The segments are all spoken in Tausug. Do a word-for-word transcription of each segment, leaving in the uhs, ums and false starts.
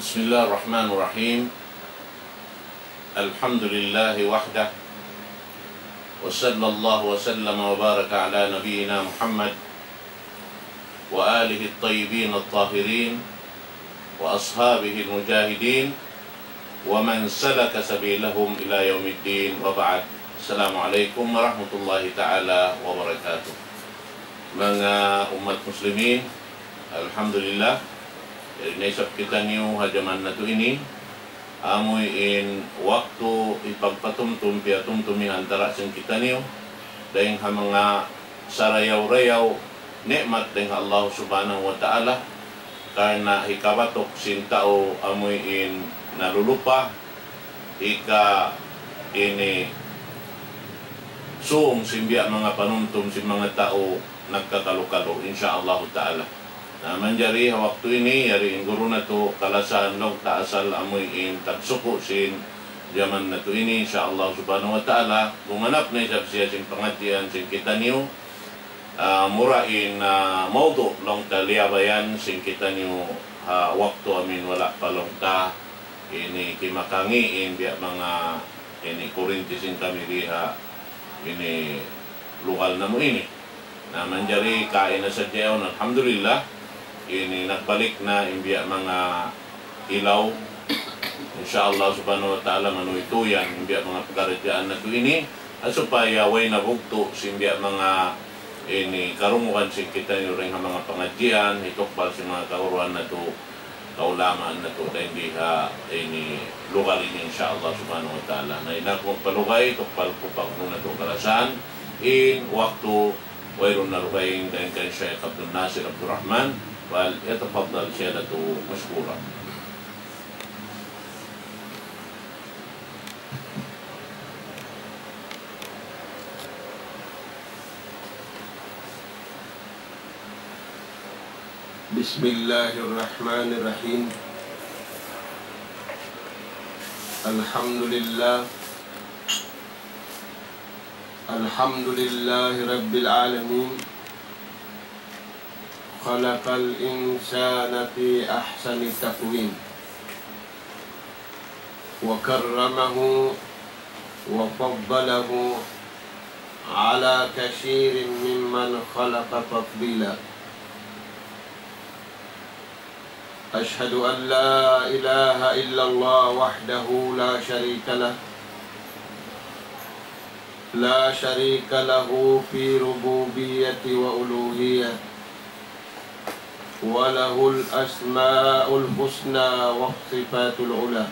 بسم الله الرحمن الرحيم. الحمد لله وحده، وصلى الله وسلم وبارك على نبينا محمد وآله الطيبين الطاهرين وأصحابه المجاهدين ومن سلك سبيلهم إلى يوم الدين، وبعد. السلام عليكم ورحمة الله تعالى وبركاته. Manga ummat muslimin, alhamdulillah, yari na isab kitaniyu ha jaman natu' ini, amuin waktu hipagpatumtum, piyatumtum ha antara' sin kitaniyu, dayng ha manga sarayaw-rayaw ni'mat dayng ha Allah Subhanahu wa Ta'ala, karna' hikabatuk sin tau amuin nalulupa, hika ini sūng sin biya' manga panumtum sin manga tau nagkakalu-kalu, insya Allah Ta'ala. Na manjari ha waktu ini, yari in guru natu' kalasahan laung ta asal amuin tagsuku' sin jaman natu' ini, insya Allah Subhanahu wa Ta'ala, gumanap na isab siya sin pangadjian sin kitaniyu, ah, mura in, ah, mawdu' laung ta liyabayan sin kitaniyu, ah, waktu amuin wala' pa laung ta ini kimakangi in biya' manga ini kurinti sin kami di ha ini lugal namu' ini. Na manjari kaina sadja yaun, alhamdulillah, ini nagbalik na in biya' manga ilaw. Insya Allah Subhanahu wa Ta'ala, manuytuyan in biya' manga pakaradjaan natu' ini, ha supaya way nabugtu' sin biya' manga ini karungugan sin kitaniyu dayng ha manga pangadjian, hitukbal sin manga kaguruhan natu', kaulamaan natu' dayng di ha ini lugal ini, insya Allah Subhanahu wa Ta'ala. Na in aku magpalugay, tukbal ku pa guru natu' kalasahan, in waktu wayruun na lugay dayn kan Shaykh Abdul Nasir Abdul Rahman, فليتفضل سيادته مشكورا. بسم الله الرحمن الرحيم. الحمد لله. الحمد لله رب العالمين. خلق الإنسان في أحسن تقويم. وكرمه وفضله على كثير ممن خلق تفضيلا. أشهد أن لا إله إلا الله وحده لا شريك له، لا شريك له في ربوبية وألوهية، وله الأسماء الحسنى والصفات العلى.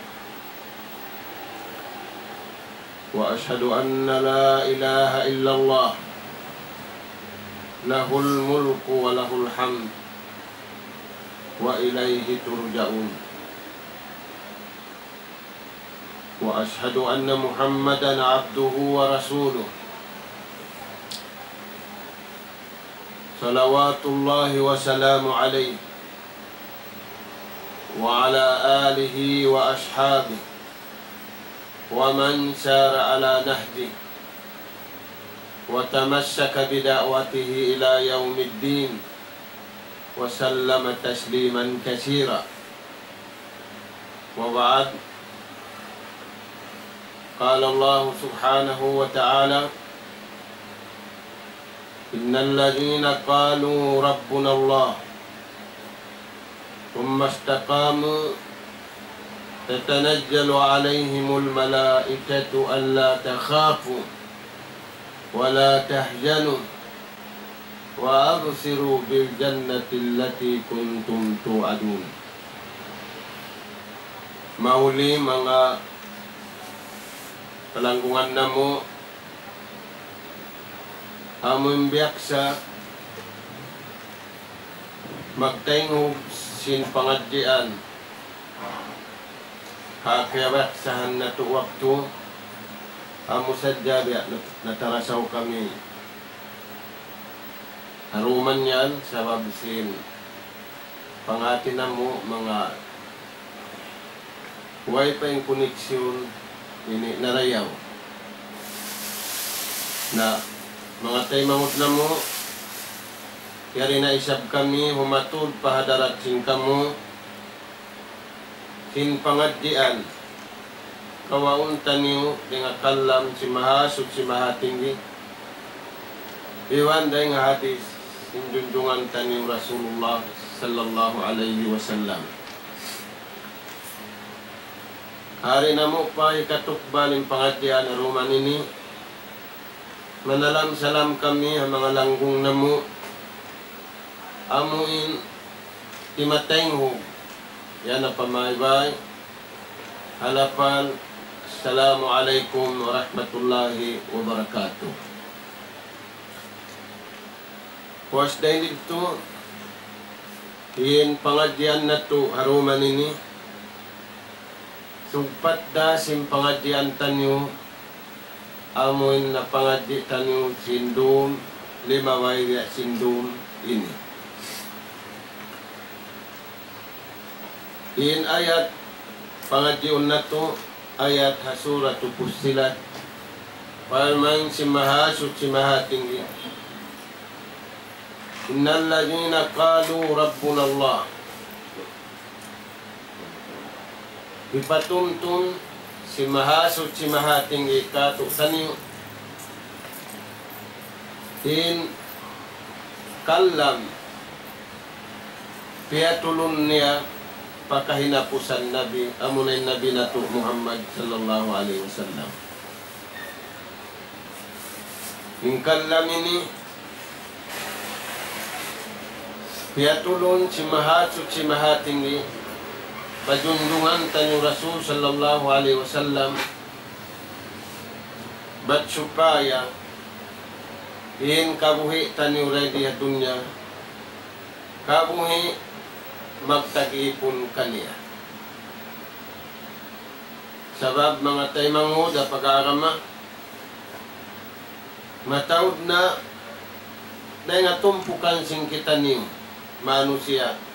وأشهد أن لا إله إلا الله، له الملك وله الحمد، وإليه ترجعون. وأشهد أن محمدا عبده ورسوله، صلوات الله وسلامه عليه وعلى آله وأصحابه ومن سار على نهجه وتمسك بدعوته إلى يوم الدين وسلم تسليما كثيرا. وبعد، قال الله سبحانه وتعالى: إن الذين قالوا ربنا الله ثم استقاموا تتنزل عليهم الملائكة ألا تخافوا ولا تحزنوا وأبشروا بالجنة التي كنتم توعدون. Mahuli manga palanggungan namu', amu in biyaksa magtaynghug sin pangadjian ha kiyabaksahan natu' waktu, amu sadja biya' nat-, natarasaw kami ha dum yan sabab sin panghati namu' manga way pa in koneksyon ini narayaw. Na, manga taymanghud namu', yari na isab kami humatud pa hadarat sin kamu, In pangadjian kawaun taniyu dayn ha kalam sin Mahasuchi Mahatinggi, iban dayn ha hadith sin junjungan taniyu Rasulullah sallallahu alayhi wasallam. Hari namu' pa hikatukbal in pangadjian ha dum ini, manalam-salam kami ha manga langgung namu', amu in timataynghug, yan na pamaybay, ha lapan, Assalamu alaykum warahmatullahi wabarakatuh. Puas dayn didtu, in pangadjian natu' ha dum ini, sugpat da sin pangadjian taniyu, amu in napangadji' taniyu sin dum, limabay biya' sin dum ini. In ayat pangadjiun natu', ayat ha Suratu Fussilat, parman sin Mahasuchi Mahatinggi, إن الذين قالوا ربنا الله. Hipatumtum sin Mahasuchi Mahatinggi kātu'niyu in kalam piyatulun niya pa kahinapusan Nabi, amuna in Nabi natu' Muhammad sallallahu alayhi wasallam. In kalam ini piyatulun sin Mahasuchi Mahatinggi pa junjungan taniyu Rasul sallallahu alayhi wasallam, bat supaya in kabuhi' taniyu dii ha dunya, kabuhi' magtag-ipun kaniya. Sabab manga taymanghud ha pag-agama, mataud na dayn ha tumpukan sin kitaniyu manusiya',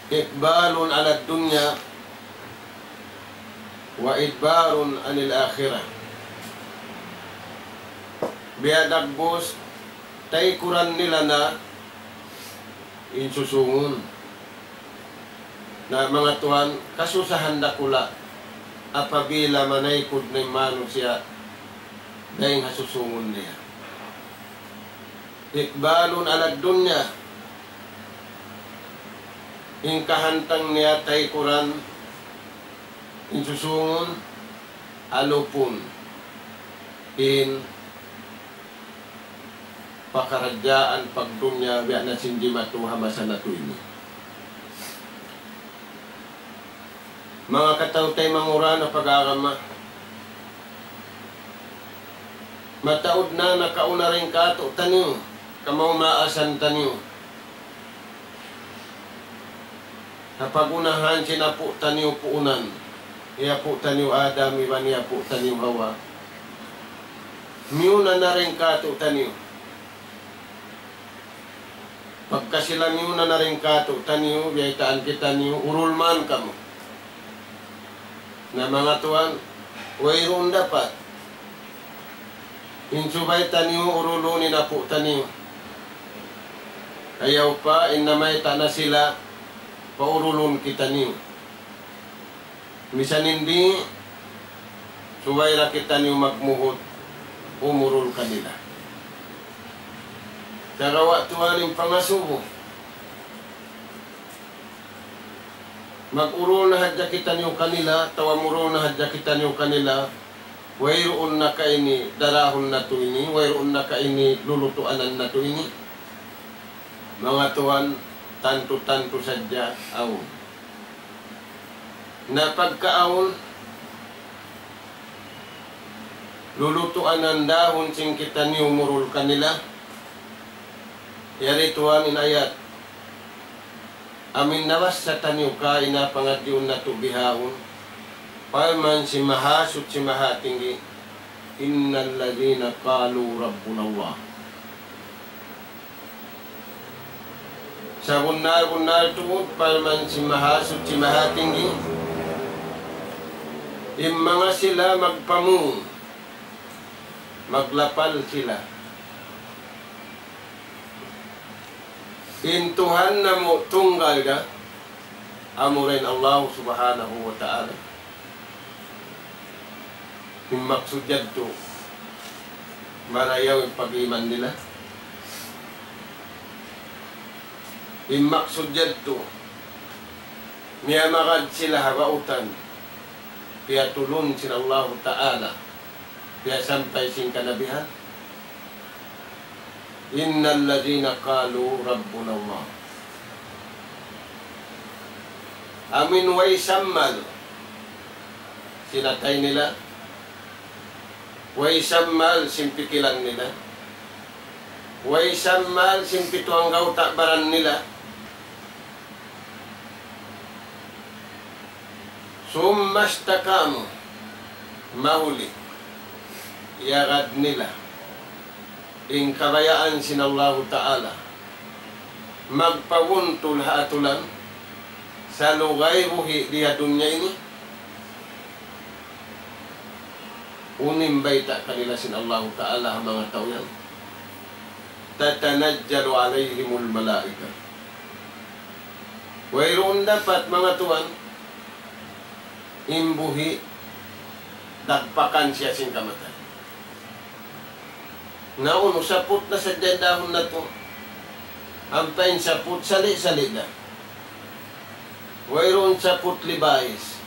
إقبال على الدنيا وإدبار عن الآخرة. Biya' dagbus, taykuran nila na in susūngun. Na manga tuwan, kasusahan dakula' apabila manaykud na in manusiya' dayn ha susūngun niya. إقبال على الدنيا. In kahantang niya taykuran in susūngun, alupun in pakaradjaan pagdunya biya' na sin jimatu ha masa natu' ini. Manga kataw-taymanghuran ha pag-agama, mataud na nakauna dayn kātu'niyu, kamaas-maasan taniyu. Ha pag-unahan sin apu' taniyu puunan, hi apu' taniyu Adam iban hi apu' taniyu Hawa. Miyuna na dayn kātu'niyu. Pagka sila miyuna na dayn kātu'niyu, biyaytaan kitaniyu, urul man kamu. Na manga tuwan, wayruun dapat in subay taniyu urulun in apu' taniyu. Ayaw pa, in namayta' na sila, paurulun kitaniyu. Misan in di', subay da kitaniyu magmuhut umurul kanila. Sagawa' tuwan in pangasubu. Mag-urul na hadja kitaniyu kanila, atawa murul na hadja kitaniyu kanila, wayruun na ka ini darahun natu' ini, wayruun na ka ini lulutuanan natu' ini. Manga tuwan, tantu-tantu sadja awn. Na pagka awn, lulutuanan dahun sin kitaniyu murul kanila. Yari tuwan in ayat. Amu in nabassa taniyu kaina pangadjiun natu' bihaun. Parman sin Mahasuchi Mahatinggi, إن الذين قالوا ربنا الله. Sabunnal-bunnal tuud, parman sin Mahasuchi Mahatinggi, in manga sila magpamung, maglapal sila. In Tuhan namu' tunggal da, Amura in Allah Subhanahu wa Ta'ala. In maksud yadtu, marayaw in pag-iman nila. In maksud yadtu, miyamagad sila ha bautan, piyatulun sin Allahu Ta'ala, piyasampay sin kanabihan. إن الذين قالوا ربنا الله. Amuin way sammal sin atay nila, way sammal sin pikilan nila, way sammal sin pitu anggawta' baran nila. ثم استقاموا, mahuli, iyagad nila in kabayaan sin Allahu Ta'ala, magpabuntul ha atulan, salugay buhi' di ha dunya ini. Unu in bayta' kanila sin Allahu Ta'ala ha manga tau yan? تتنزل عليهم الملائكة. Wayruun dapat, manga tuwan, in buhi' dagpakan siya sin kamatay. Na unu, saput na sadja in dahun natu'. Ampa in saput, sali'-sali' da. Wayruun saput Levi's.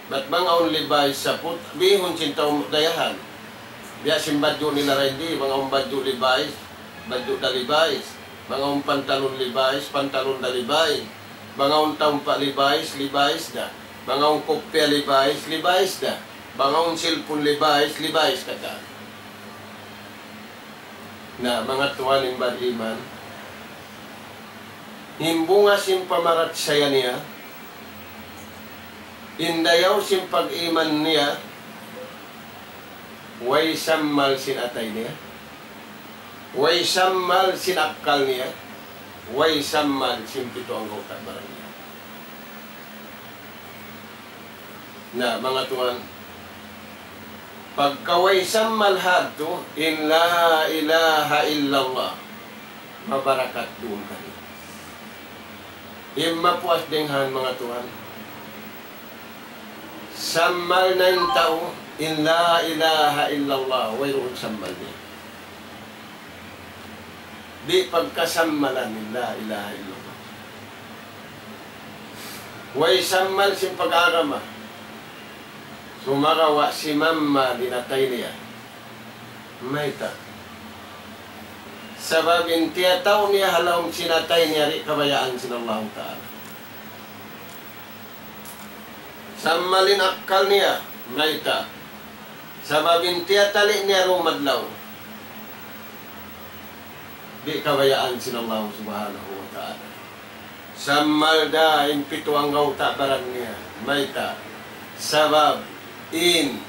Bat bang awn Levi's saput, bihun sin tau dayahan. Biya' sin badju' nila dayn di, bang awn badju' Levi's, badju' da Levi's. Bang awn pantalon Levi's, pantalon da Levi's. Bang awn tampa Levi's, Levi's da. Bang awn kupya Levi's, Levi's da. Bang awn cellphone Levi's, Levi's katan. Na, manga tuwan, in bariman, in bunga sin pamarachaya niya, in dayaw sin pag-iman niya, way sammal sin atay niya, way sammal sin akkal niya, way sammal sin pitu anggawta' baran niya. Na, manga tuwan, pagka way sammal hadtu in la ilaha illallah, mabarakat duun kaniya. In mapuas dayn ha yan, manga tuwan, sammal na in tau in la ilaha illallah, wayruun sammal niya. Di' pagkasammalan in la ilaha illallah. Way sammal sin pag-agama. Sumagawa' simammal in atay niya. Mayta'? Sabab in tiyatau niya ha lawm sin atay niya di' kabayaan sin Allahu Ta'ala. Sammal in akkal niya, mayta'? Sabab in tiyatali' niya dum adlaw, di' kabayaan sin Allah Subhanahu wa Ta'ala. Sammal da in pitu anggawta' baran niya, mayta'? Sabab in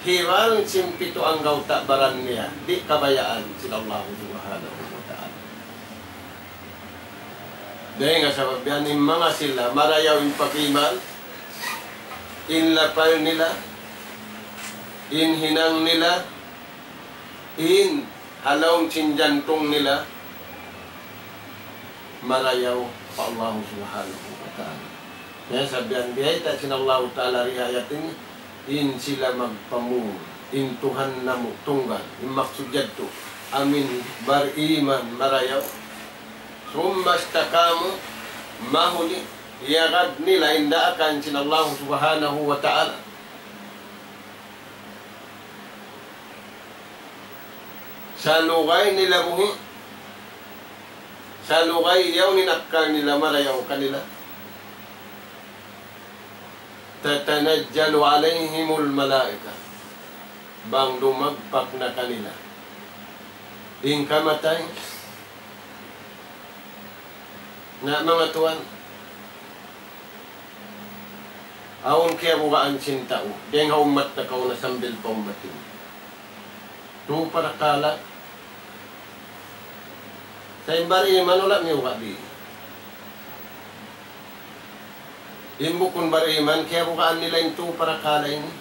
hibal sin pitu anggawta' baran niya, di' kabayaan sin Allah Subhanahu wa Ta'ala. Dayn ha sabab yan, in manga sila marayaw in pag-iman, in lapal nila, in hinang nila, in ha lawm sin jantung nila, marayaw pa Allah Subhanahu wa Ta'ala. Yan sabab yan, biyayta' sin Allah Ta'ala di ha ayat ini, in sila magpamung, in Tuhan namu' tunggal, in maksud yadtu, amuin bariman marayaw. ثم استقاموا, mahuli, iyagad nila in daakan sin Allah Subhanahu wa Ta'ala. Salugay nila buhi', salugay yaun in akkal nila marayaw kanila. تتنزل عليهم الملائكة. Bang dumagpak na kanila in kamatay. Na, manga tuwan, awn kiyabugaan sin tau dayn ha ummat nakauna sambil pa ummat ini. Tu parakala'. Sa' in bariman wala' miyuga' di. In bukun bariman, kiyabugaan nila in tu parakala' ini.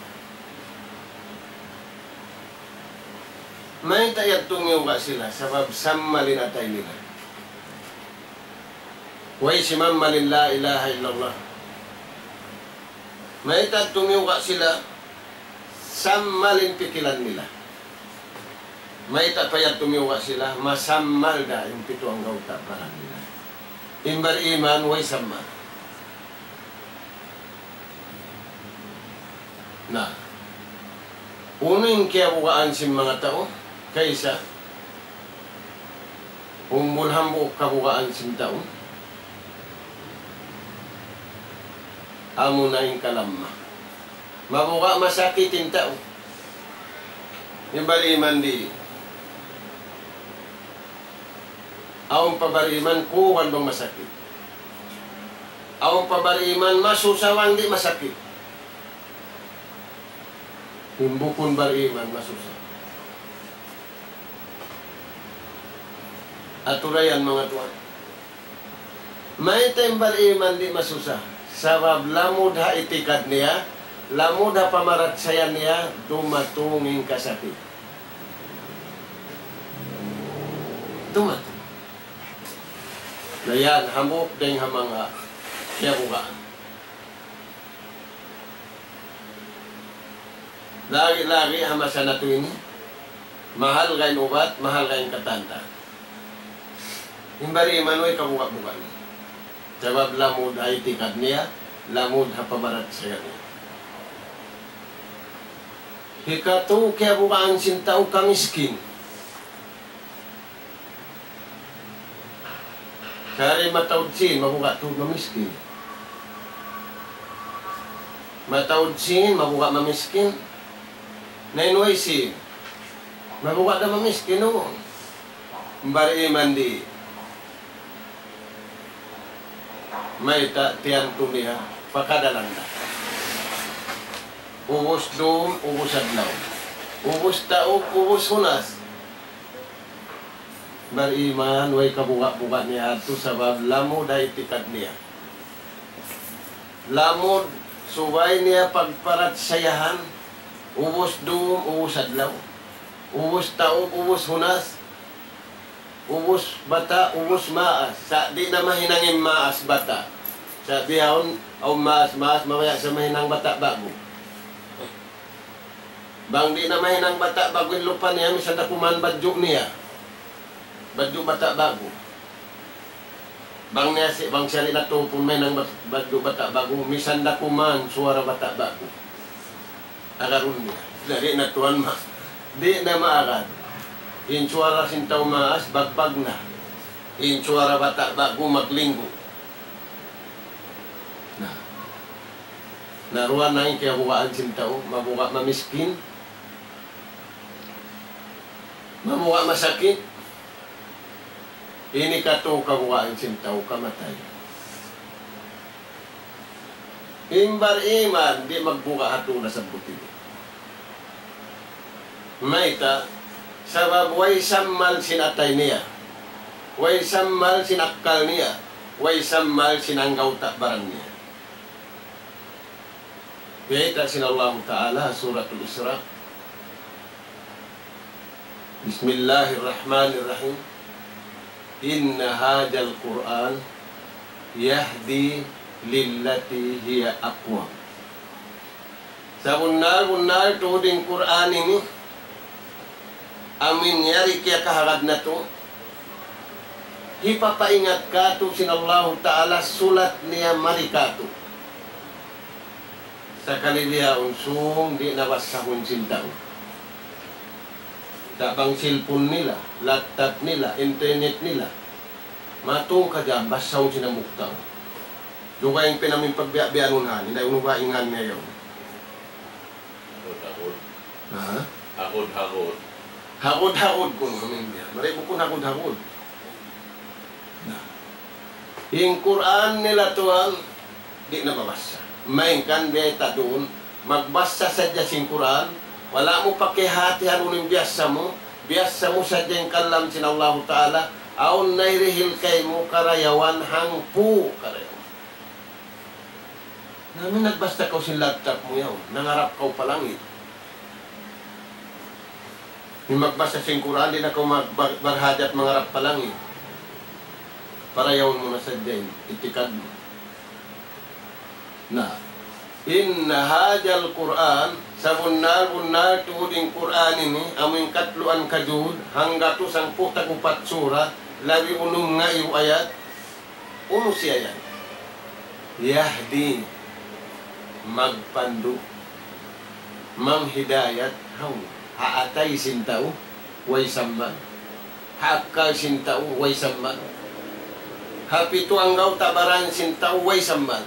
Mayta' yadtu miyuga' sila, sabab sammal in atay nila. Way simamal in la ilaha illallah. Mayta' tumiyuga' sila, samal in pikilan nila. Mayta' pa yan tumiyuga' sila, masamal da in pitu anggawta' baran nila. In bariman, way samal. Na, unu in kiyabugaan sin manga tau, kaysa, umbul hambuuk kabugaan sin tau, amuna in kalamma. Mabuga' masakit in tau. In bariman di'. Awn pa bariman kuwan bang masakit. Awn pa bariman masusa bang di' masakit. In bukun bariman masusa. Atura yan manga tuwan. Mayta' in bariman di' masusa? Sabab lamud ha itikad niya, lamud ha pamarachaya niya, dumatung in kasakit. Dumatung. Na yan, hambuuk dayn ha manga kiyabugaan. Lagi'-lagi' ha masa natu' ini, mahalga' in ubat, mahalga' in katantan. In bariman way kabuga'-buga' niya. Sabab lamud ha itikad niya, lamud ha pamarachaya niya. Hikatu kiyabugaan sin tau kamiskin. Kari mataud sin, mabuga' tuud mamiskin. Mataud sin, mabuga' mamiskin. Na in way sin, mabuga' da mamiskin, o. Bariman di'. Mayta' tiyantu niya, pakadalan da. Ubus dum, ubus adlaw. Ubus taug, ubus hunas. Bariman, way kabuga'-buga' niya yadtu sabab lamud ha itikad niya. Lamud, subay niya pagparachayahan, ubus dum, ubus adlaw. Ubus taug, ubus hunas. Ubus bata', ubus maas. Sa' di' na mahinang in maas bata'. Sa' bihaun, awn maas-maas, mabaya' sa mahinang bata' ba'gu. Bang di' na mahinang bata' ba'gu in lupa niya, misan da kuman badju' niya. Badju' bata' ba'gu. Bang niya si, bang siya di' na tupun mahinang bat-, badju' bata' ba'gu, misan da kuman suwara bata' ba'gu. Agarun niya. Di' na tuwan ma-, di' na maagad. In suwara sin tau maas, bagbag na. In suwara bata' ba'gu, maglinggu. Na. Na duwa na in kiyabugaan sin tau, mabuga' mamiskin, mabuga' masakit, ini katu' kabugaan sin tau kamatay. In bariman, di' magbuga' ha tau nasabbut ini. Mayta', sabab way sammal sin atay niya, way sammal sin akkal niya, way sammal sin anggawta' baran niya. Biyayta' sin Allahu Ta'ala, Suratul Isra. بسم الله الرحمن الرحيم. إن هذا القرآن يهدي للتي هي أقوم. Sabunnal-bunnal tuud in Qur'an ini, amu in yari kiyakahagad natu', hipapaingat kātu' sin Allahu Ta'ala sulat niya mari kātu'. Sakali bihaun sung di' na basahun sin tau. Sa' bang cellphone nila, laptop nila, internet nila, matungka dyan basahun sin hambuuk tau. Dugaing pinamin pagbiya'-biyanun han, inday unu ba in ngan niya yaun? Hagud-hagud. Ha? Hagud-hagud. Hagud-hagud kunu' amin niya. Mari bukun hagud-hagud. Na. In Qur'an nila tuwan, di' na mabassa. Malayngkan biyayta' duun, magbassa sadja sin Qur'an, wala' mu pakihatihan unu in biyassa mu, biyassa mu sadja in kalam sin Allahu Ta'ala, awn nayrihil kaymu karayawan hangpu' karayawan. Na amin nagbassa kaw sin laptop mu yaun, nangarap kaw pa langit. In magbassa sin Qur'an, di' na kaw mag-, bar-, barhajat mangarap pa langit. Parayawun mu na sadja in itikad mu. Na, إن هذا القرآن, sabunnal-bunnal tuud in Qur'an ini, amu in katluan ka juz, hanggatus hangpu' tag-upat surat, labi unum ngaibu ayat, unu siya yan? يهدي, magpandu', manghidayat, hawnu? Ha atay sin tau, way sammal. Ha akkal sin tau, way sammal. Ha pitu anggawta' baran sin tau, way sammal.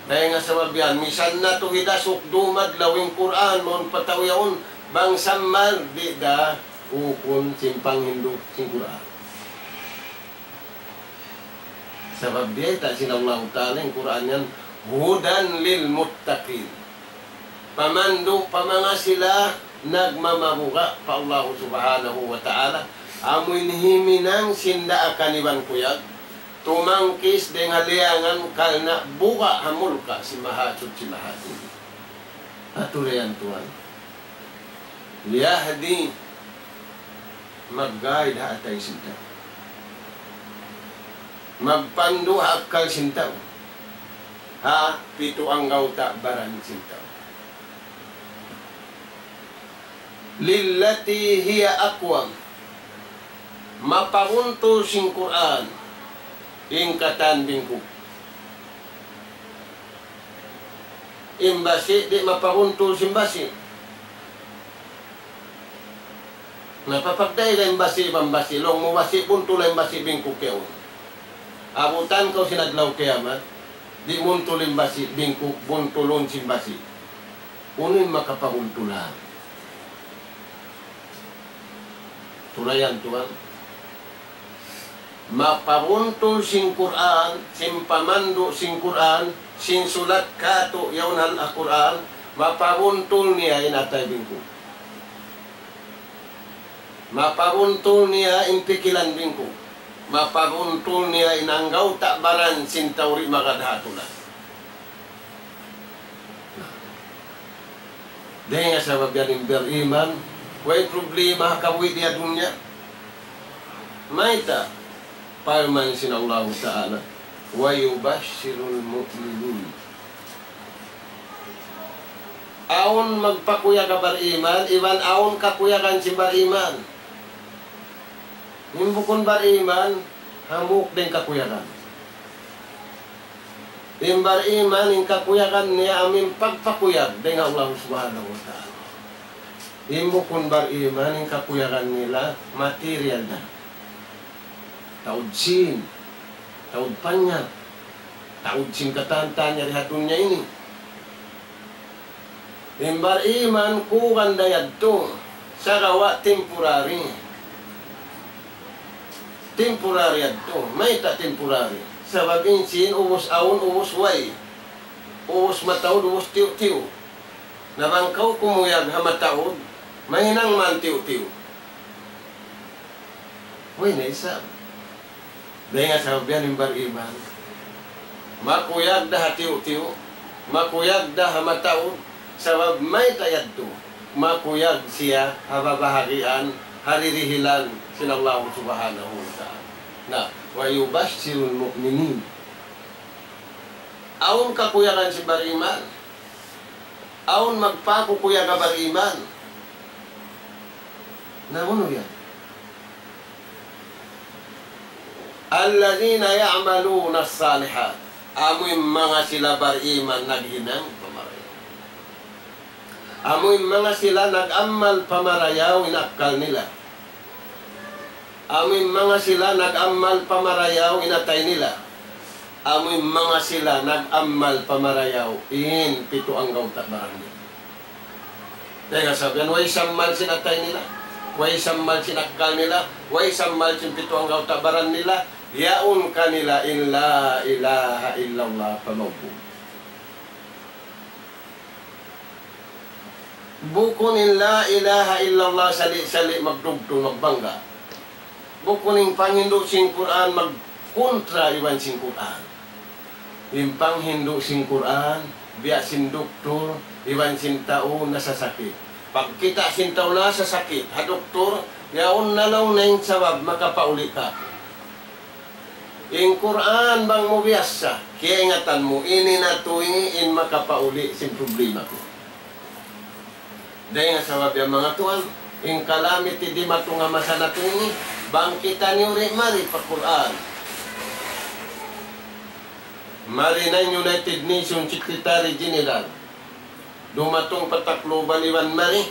Dayn ha sabab yan, misan na tuud hidasuk dumadlaw in Qur'an, mawn pa tau yaun, bang sammal, di' da ukun sin panghindu' sin Qur'an. Sabab biyayta' sin Allahu Ta'ala in Qur'an yan, هدى للمتقين. Pamandu' pa manga sila nagmamabuga' pa Allahu Subhanahu wa Ta'ala, amu in himinang sin daakan iban kuyag, tumangkis dayn ha liyangan karna' buga' ha mulka' sin Mahasuchi Mahatinggi. Atu na yan tuwan. يهدي, mag-guide ha atay sin tau. Magpandu' ha akkal sin tau. Ha pitu anggawta' baran sin tau. للتي هي أقوم. Mapabuntul sin Qur'an in katan bingkuk. In basi' di' mapabuntul sin basi'. Na, papagdai da in basi' iban basi', laung mu basi' buntul, in basi' bingkuk yaun. Abutan kaw sin adlaw kiyamat, di' buntul in basi' bingkuk, buntulun sin basi'. Unu in makapabuntulan? Tulayan tuwan. Mapabuntul sin Qur'an, sin pamandu' sin Qur'an, sin sulat katu' yaun ha Qur'an, mapabuntul niya in atay bingkuk. Mapabuntul niya in pikilan bingkuk. Mapabuntul niya in anggawta' baran sin tau di' magad ha atulan. Dayn ha sabab yan in bariman, way problema ha kabuhi' di ha dunya. Mayta'? Parman sin Allahu Ta'ala, ويبشر المؤمنين. Awn magpakuyag ha bariman, iban awn kakuyagan sin bariman. In bukun bariman, hambuuk da in kakuyagan. In bariman, in kakuyagan niya amu in pagpakuyag dayn ha Allah Subhanahu wa Ta'ala. In bukun bariman, in kakuyagan nila material da. Taud sīn, taud panyap, taud sin katan-katan yari ha dunya ini. In bariman, kuyagan da yadtu, sagawa' temporary. Temporary yadtu. Mayta' temporary? Sabab in sīn ubus awn, ubus way. Ubus mataud, ubus tiyu'-tiyu'. Na bang kaw kumuyag ha mataud, mahinang man tiyu'-tiyu'. Way na isab. Dayn ha sabab yan in bariman, makuyag da ha tiyu'-tiyu', makuyag da ha mataud, sabab mayta' yadtu, makuyag siya ha babahagian, ha dirihilan sin Allah Subhanahu wa Ta'ala. Na, ويبشر المؤمنين. Awn kakuyagan sin bariman, awn magpakuyag ha bariman. Na unu yan? الذين يعملون الصالحات. Amu in manga sila bariman naghinang pamarayaw. Amu in manga sila nag-amal pamarayaw in akkal nila. Amu in manga sila nag-amal pamarayaw in atay nila. Amu in manga sila nag-amal pamarayaw in pitu anggawta' baran nila. Dayn ha sabab yan, way sammal sin atay nila, way sammal sin akkal nila, way sammal sin pitu anggawta' baran nila, yaun kanila in لا إله إلا الله pa maubug. Bukun in لا إله إلا الله sali'-sali' magdugtung, magbangga. Bukun in panghindu' sin Qur'an magkontra iban sin Qur'an. In panghindu' sin Qur'an, biya' sin duktur iban sin tau nasasakit. Pagkita' sin tau nasasakit ha duktur, yaun na laung niya in sabab makapauli' kātu'. In Qur'an bang mu biyasa, kiyaingatan mu, ini na tuud in makapauli' sin problema ku. Dayn ha sabab yan manga tuwan, in kalamity dimatung ha masa natu' ini, bang kitaniyu di' mari pa Qur'an. Mari na in United Nations Secretary General. Dumatung pa Tacloban iban mari,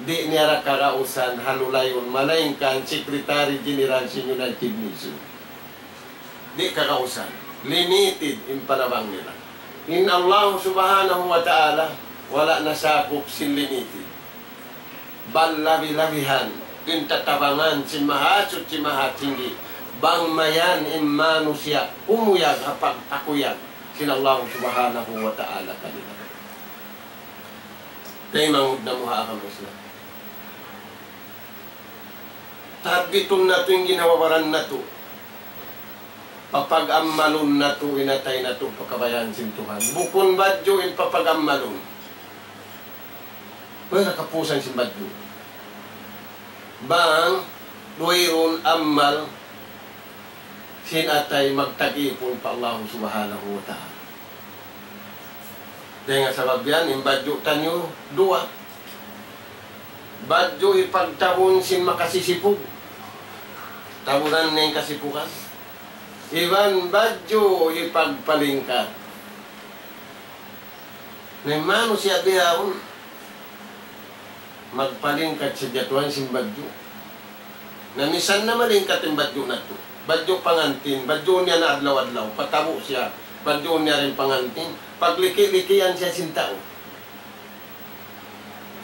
di' niya da kagausan ha lulayun, malaingkan Secretary General sin United Nations. Di' kagausan. Limited in panabang nila. In Allah Subhanahu wa Ta'ala, wala' nasakup sin limited. Bal labi-labihan in tatabangan sin Mahasuchi Mahatinggi, bang mayan in manusiya' kumuyag ha pagpakuyag sin Allah Subhanahu wa Ta'ala kanila. Taymanghud namu' ha agama Islam. Tabbitun natu' in ginhawa-baran natu'. Papag-ammalun natu' in atay natu' pa kabayaan sin Tuhan. Bukun badju' in papag-ammalun. Wala' kapusan sin badju'. Bang, duwa irun ammal, sin atay magtag-ipun pa Allah Subhanahu wa Ta'ala. Dayn ha sabab yan, in badju' taniyu, duwa. Badju' hipagtabun sin makasisipug. Tabunan niya in kasipugan. Iban badju' hipagpalingkat. Na in manusiya' bihaun, magpalingkat sadja tuwan sin badju'. Na misan na malingkat in badju' natu'. Badju' pangantin, badjuun niya na adlaw-adlaw, patabu' siya, badjuun niya da in pangantin, pagliki-likian siya sin tau.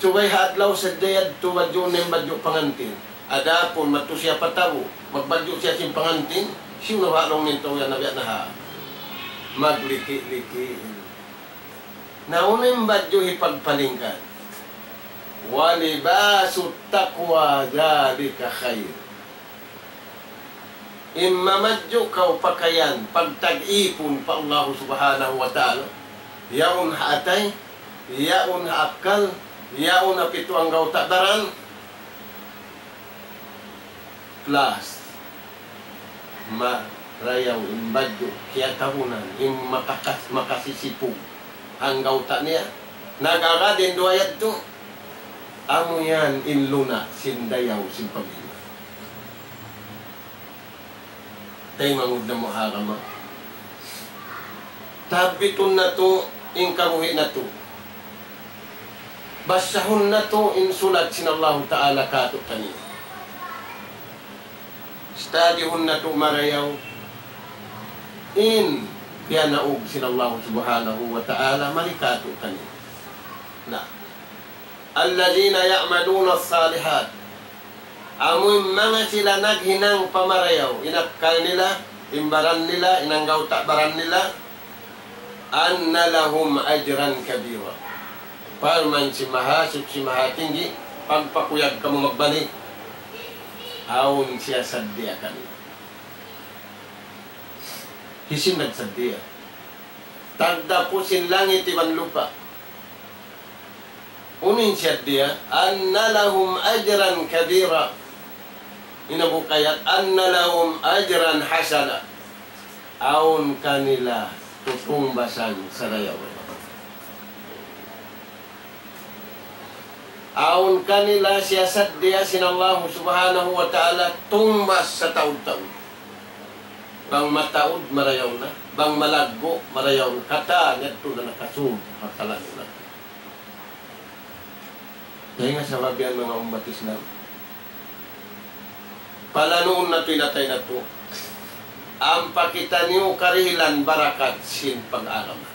Subay ha adlaw sadja yadtu badjuun niya in badju' pangantin. Adapun madtu siya patabu', magbadju' siya sin pangantin, siyu na ba laung niya in tau yan na biya' na ha? Magliki-liki. Na unu in badju' hipagpalingkat? وَلِبَاسُ التَّقْوَى ذَٰلِكَ خَيْرٌ. In mamadju' kaw pakayan, pagtag-ipun pa Allah Subhanahu wa Ta'ala, yaun ha atay, yaun ha akkal, yaun ha pitu anggawta' baran, plus, marayaw in badju' kiyatabunan, in makakas-, makasisipug anggawta' niya. Nag-agad in duwa yadtu, amu yan in luna' sin dayaw sin pag-iman. Taymanghud namu' ha agama. Tabbitun natu' in kabuhi' natu'. Basahun natu' in sulat sin Allahu Ta'ala kātu'niyu. Studyhun natu' marayaw in piyanaug sin Allahu Subhanahu wa Ta'ala mari kātu'niyu. Na, الَّذِينَ يَعْمَلُونَ الصَّالِحَاتِ. Amu in manga sila naghinang pa marayaw, in akkal nila, in baran nila, in anggawta' baran nila, أَنَّ لَهُمْ أَجْرًا كَبِيرًا. Parman sin Mahasuchi Mahatinggi, pagpakuyag kamu magbalik, awn siya saddiya kaniyu. Hisiyu in nagsaddiya? Tagdapu sin langit iban lupa'. Unu in saddiya? أَنَّ لَهُمْ أَجْرًا كَبِيرًا. In hambuuk ayat, أَنَّ لَهُمْ أَجْرًا حَسَنًا. Awn kanila tutungbasan sarayaw. Awn kanila siya saddiya sin Allahu Subhanahu wa Ta'ala tungbas sataud-taud. Bang mataud, marayaw na. Bang malaggu', marayaw na. Katan yadtu na nakasud ha kalangunan. Dayn ha sabab yan, manga ummat Islam, palanuun natu' in atay natu'. Ampa kitaniyu karihilan barakat sin pag-agama.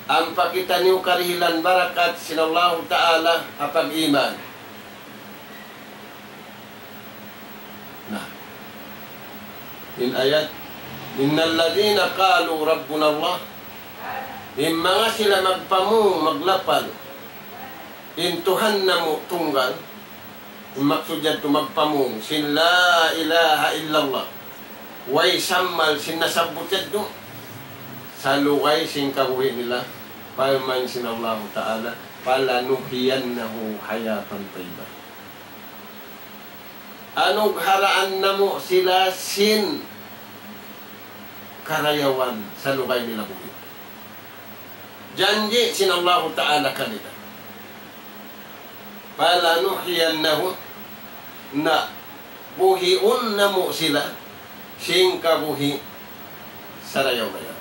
Ampa kitaniyu karihilan barakat sin Allahu Ta'ala ha pag-iman. Na, in ayat, إِنَّ الَّذِينَ قَالُوا رَبُّنَا اللَّهُ. In manga sila magpamung, maglapal, in Tuhan namu' tunggal, in maksud yadtu magpamung sin لا إله إلا الله. Way sammal sin nasabbut yadtu. Salugay sin kabuhi' nila, parman sin Allahu Ta'ala, فَلَنُحْيِيَنَّهُ حَيَاةً طَيِّبَةً. Anugharaan namu' sila sin karayawan salugay nila buhi'. Janji' sin Allahu Ta'ala kanila. فلنحيينهم, na buhiun namu' sila sin kabuhi' sarayaw-rayaw.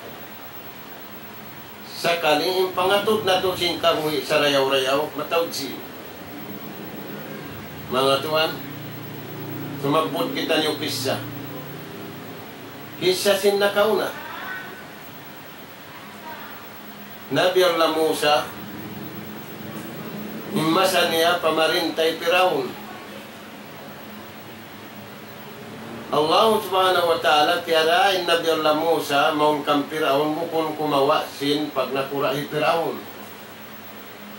Sakali in pangatud natu' sin kabuhi' sarayaw-rayaw, mataud sin. Manga tuwan, sumabbut kitaniyu kissa. Kissa sin nakauna. Nabi Allah Musa, in masa niya pamarinta hi Piraun. Allah Subhanahu wa Ta'ala piyara in Nabi Allah Musa mawn kan Piraun bukun kumawa' sin pagnakura' hi Piraun.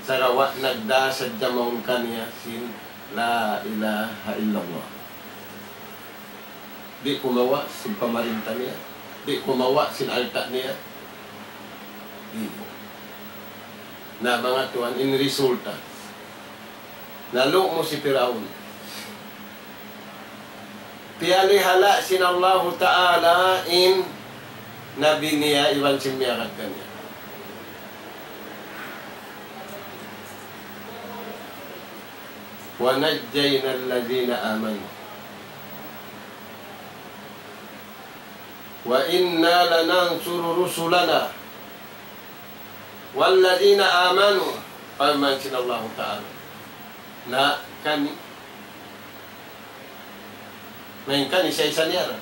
Sagawa' nagdā sadja mawn kaniya sin لا إله إلا الله. Di' kumawa' sin pamarinta niya. Di' kumawa' sin alta' niya. Di'. Na manga tuwan, in resulta. Nalumus hi Piraun. Piyalihala' sin Allahu Ta'ala in nabi niya iban sin miyagad kaniya. ونجينا الذين آمنوا وإنا لننصر رسلنا والذين آمنوا. Parman sin Allahu Ta'ala. Na kami. Main kami sa isa niya ra.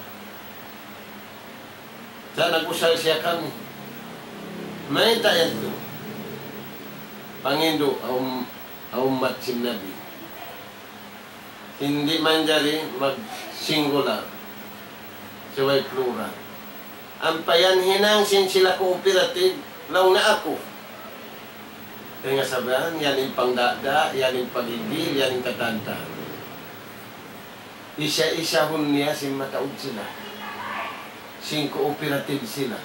Sa' nag-usal siya kami. Mayta' yadtu? Pangindu' ha um-, ha ummat sin Nabi. Di' manjari mag-singular. Subay plural. Ampa yan hinang sin sila cooperative, laung na aku. Kaya nga sabihan, yan in pangdada, yan in pagigil, yan in katanta. Isa-isahun niya sin mataud sila. Sin cooperative sila.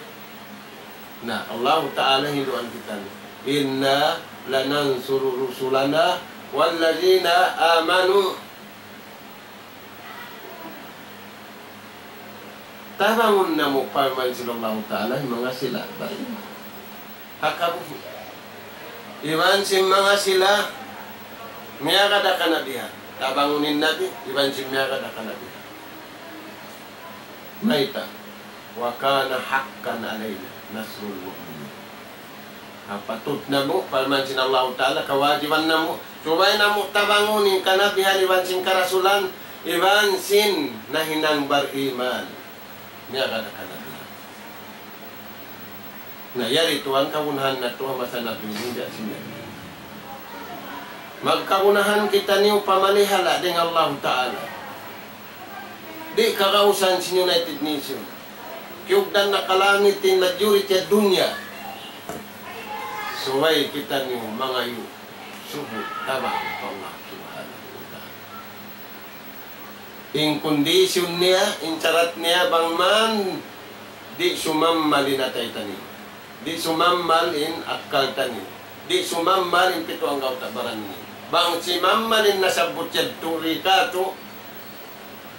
Na, Allahu Ta'ala hinduan kita. إنا لننصر رسلنا والذين آمنوا. Tabangun namu' parman sin Allahu Ta'ala, manga sila bariman. Ha kabuhi'. Iban sin manga sila, miyagad ha kanabihan. Tabangun in Nabi, iban sin miyagad ha kanabihan. Mayta'? وكان حقا علينا نصر المؤمنين. Ha, patut namu', parman sin Allahu Ta'ala, kawajiban namu'. Subay namu' tabangun in kanabihan iban sin karasulan, iban sin nahinang bariman. Miyagad ha kanabihan. Na, yari tuwan kagunahan natu' ha masa Nabi ini, biya' sin Nabi. Magkagunahan kitaniyu pamalihala' dayn ha Allahu Ta'ala. Di' kagausan sin United Nations. Kiyugdan na ka langit in majority ha dunya. Subay kitaniyu mangayu' subut tabang pa Allah Subhanahu wa Ta'ala. In kondisyon niya, in sarat niya, bang man di' sumammal in atay taniyu. Di' sumammal in akkal taniyu. Di' sumammal in pitu anggawta' baran niyu. Bang simammal in nasabbut yadtu ri katu',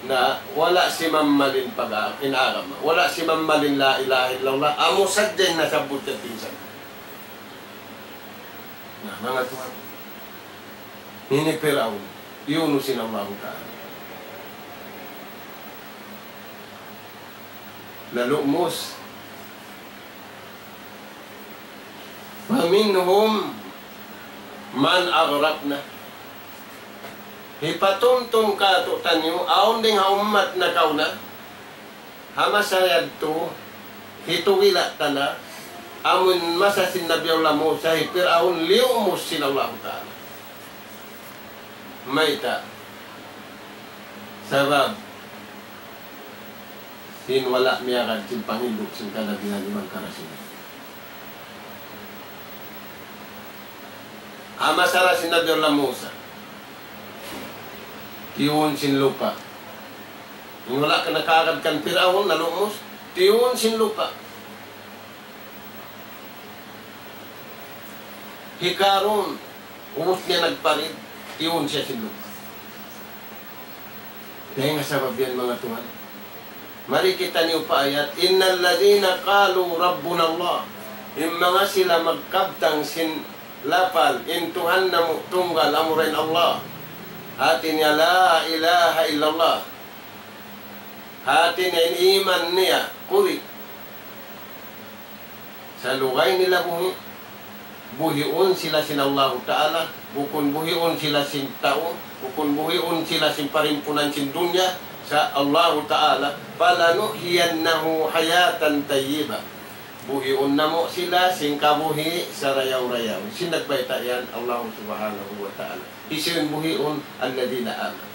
na wala' simammal in pag-, in agama. Wala' simammal in la ilaha illallah. Amu sadja in nasabbut yadtu minsan. Na, manga tuwan. Ini Piraun, iyunu sin Allahu Ta'ala. Nalumus. ومنهم من أغرقنا. Hipatumtum katu'taniyu, awn dayn ha ummat nakauna. Ha masa yadtu, hitugila' ta na, amun masa sin Nabi Allah Musa, hi Piraun liyumus sin Allahu Ta'ala. Mayta'? Sabab, sin wala' miyagad sin pangindu' sin kanabihan iban karasulan. Ha masa ra sin Nabi Allah Musa, tiyun sin lupa'. In wala' ka nakaagad kan Piraun, nalumus, tiyun sin lupa'. Hi Karun, ubus niya nagparid, tiyun siya sin lupa'. Dayn ha sabab yan, manga tuwan. Mari kitaniyu pa ayat, إن الذين قالوا ربنا الله. In manga sila magkabtang sin lapal, in Tuhan namu' tunggal amura in Allah. Hati niya لا إله إلا الله. Hati niya in iman niya, kuri. Sa' lugay nila buhi', buhiun sila sin Allahu Ta'ala, bukun buhiun sila sin tau, bukun buhiun sila sin parimpunan sin dunya, sa' Allahu Ta'ala, فلنحيينه حياة طيبة. Buhiun namu' sila sin kabuhi' sarayaw-rayaw. Sin nagbayta' yan, Allahu Subhanahu wa Ta'ala. Hisiyu in buhiun? الذين آمنوا.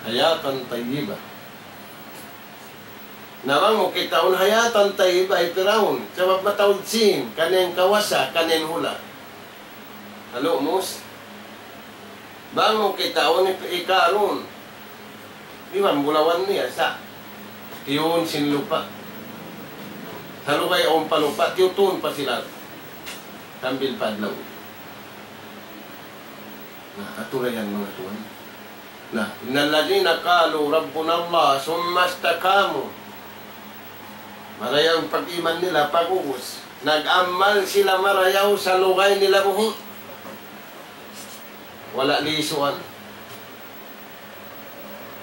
حياة طيبة. Na bang mu kitaun حياة طيبة hi Piraun, sabab mataud sin, kaniya in kawasa, kaniya in hula'. Halu' mus. Bang mu kitaun hi, hi Karun, di' ba bulawan niya sa'. Tiyun sin lupa'. Sa' lugay awn pa lupa', tiyutun pa sila. Sambil pa adlaw. Na, aturan yan, manga tuwan. Na, إن الذين قالوا ربنا الله ثم استقاموا. Marayaw in pag-iman nila, pag'ubus. Nag-amal sila marayaw sa' lugay nila buhi'. Wala' lisuan.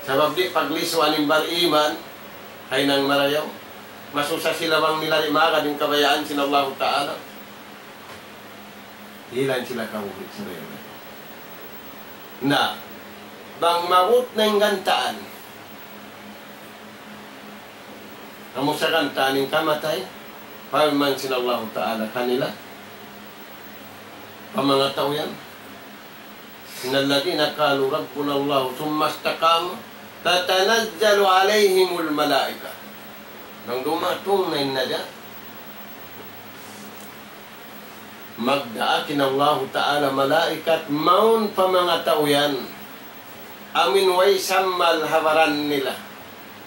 Sabab di' paglisuan in bar-iman, haynang marayaw. Masusa sila bang nila di' maagad in kabayaan sin Allahu Ta'ala. Dihilan sila kabuhi' sila yan. Na, bang maabut na in gantaan, amu sa gantaan in kamatay, parman sin Allahu Ta'ala kanila, pa manga tau yan, إن الذين قالوا ربنا الله ثم استقاموا تتنزل عليهم الملائكة. Bang dumatung na in najat, magdaak in Allahu Ta'ala malaikat mawn pa manga tau yan. Amu in way sammal ha baran nila.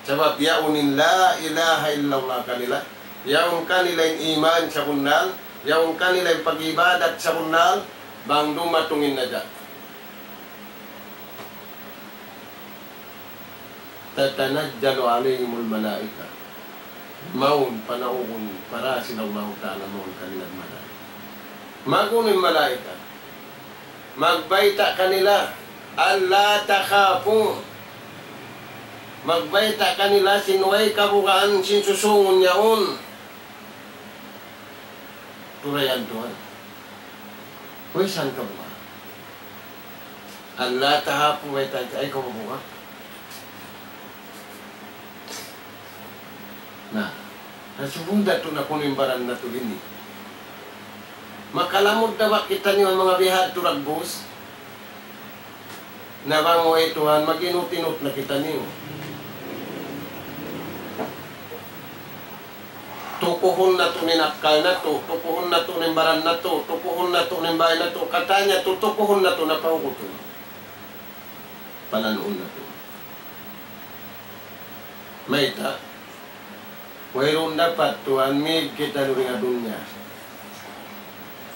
Sabab yaun in لا إله إلا الله kanila. Yaun kanila in iman sabunnal. Yaun kanila in pag-ibadat sabunnal. Bang dumatung in najat. تتنزل عليهم الملائكة. Mawn, panaugun, para sin Allahu Ta'ala mawn kanila malaika. Mag-unu in malaika? Magbayta' kanila, ألا تخافوا. Magbayta' kanila sin way kabugaan sin susūngun yaun. Turayan tuwan. Way san kabugaan. ألا تخافوا, way ta-, ayaw kaw mabuga'. Na, nasubunda tu na kunu' in baran natu' ini. Makalamud da ba kitaniyu ha manga bihadtu dagbus? Na bang way Tuhan, mag-inut-inut na kitaniyu. Tukuhun natu' in akkal natu', tukuhun natu' in baran natu', tukuhun natu' in bay natu', katan natu', tukuhun natu' na pa ugutun. Pananuun natu'. Mayta'? Wayruun dapat tuwan mig kita duun ha dunya.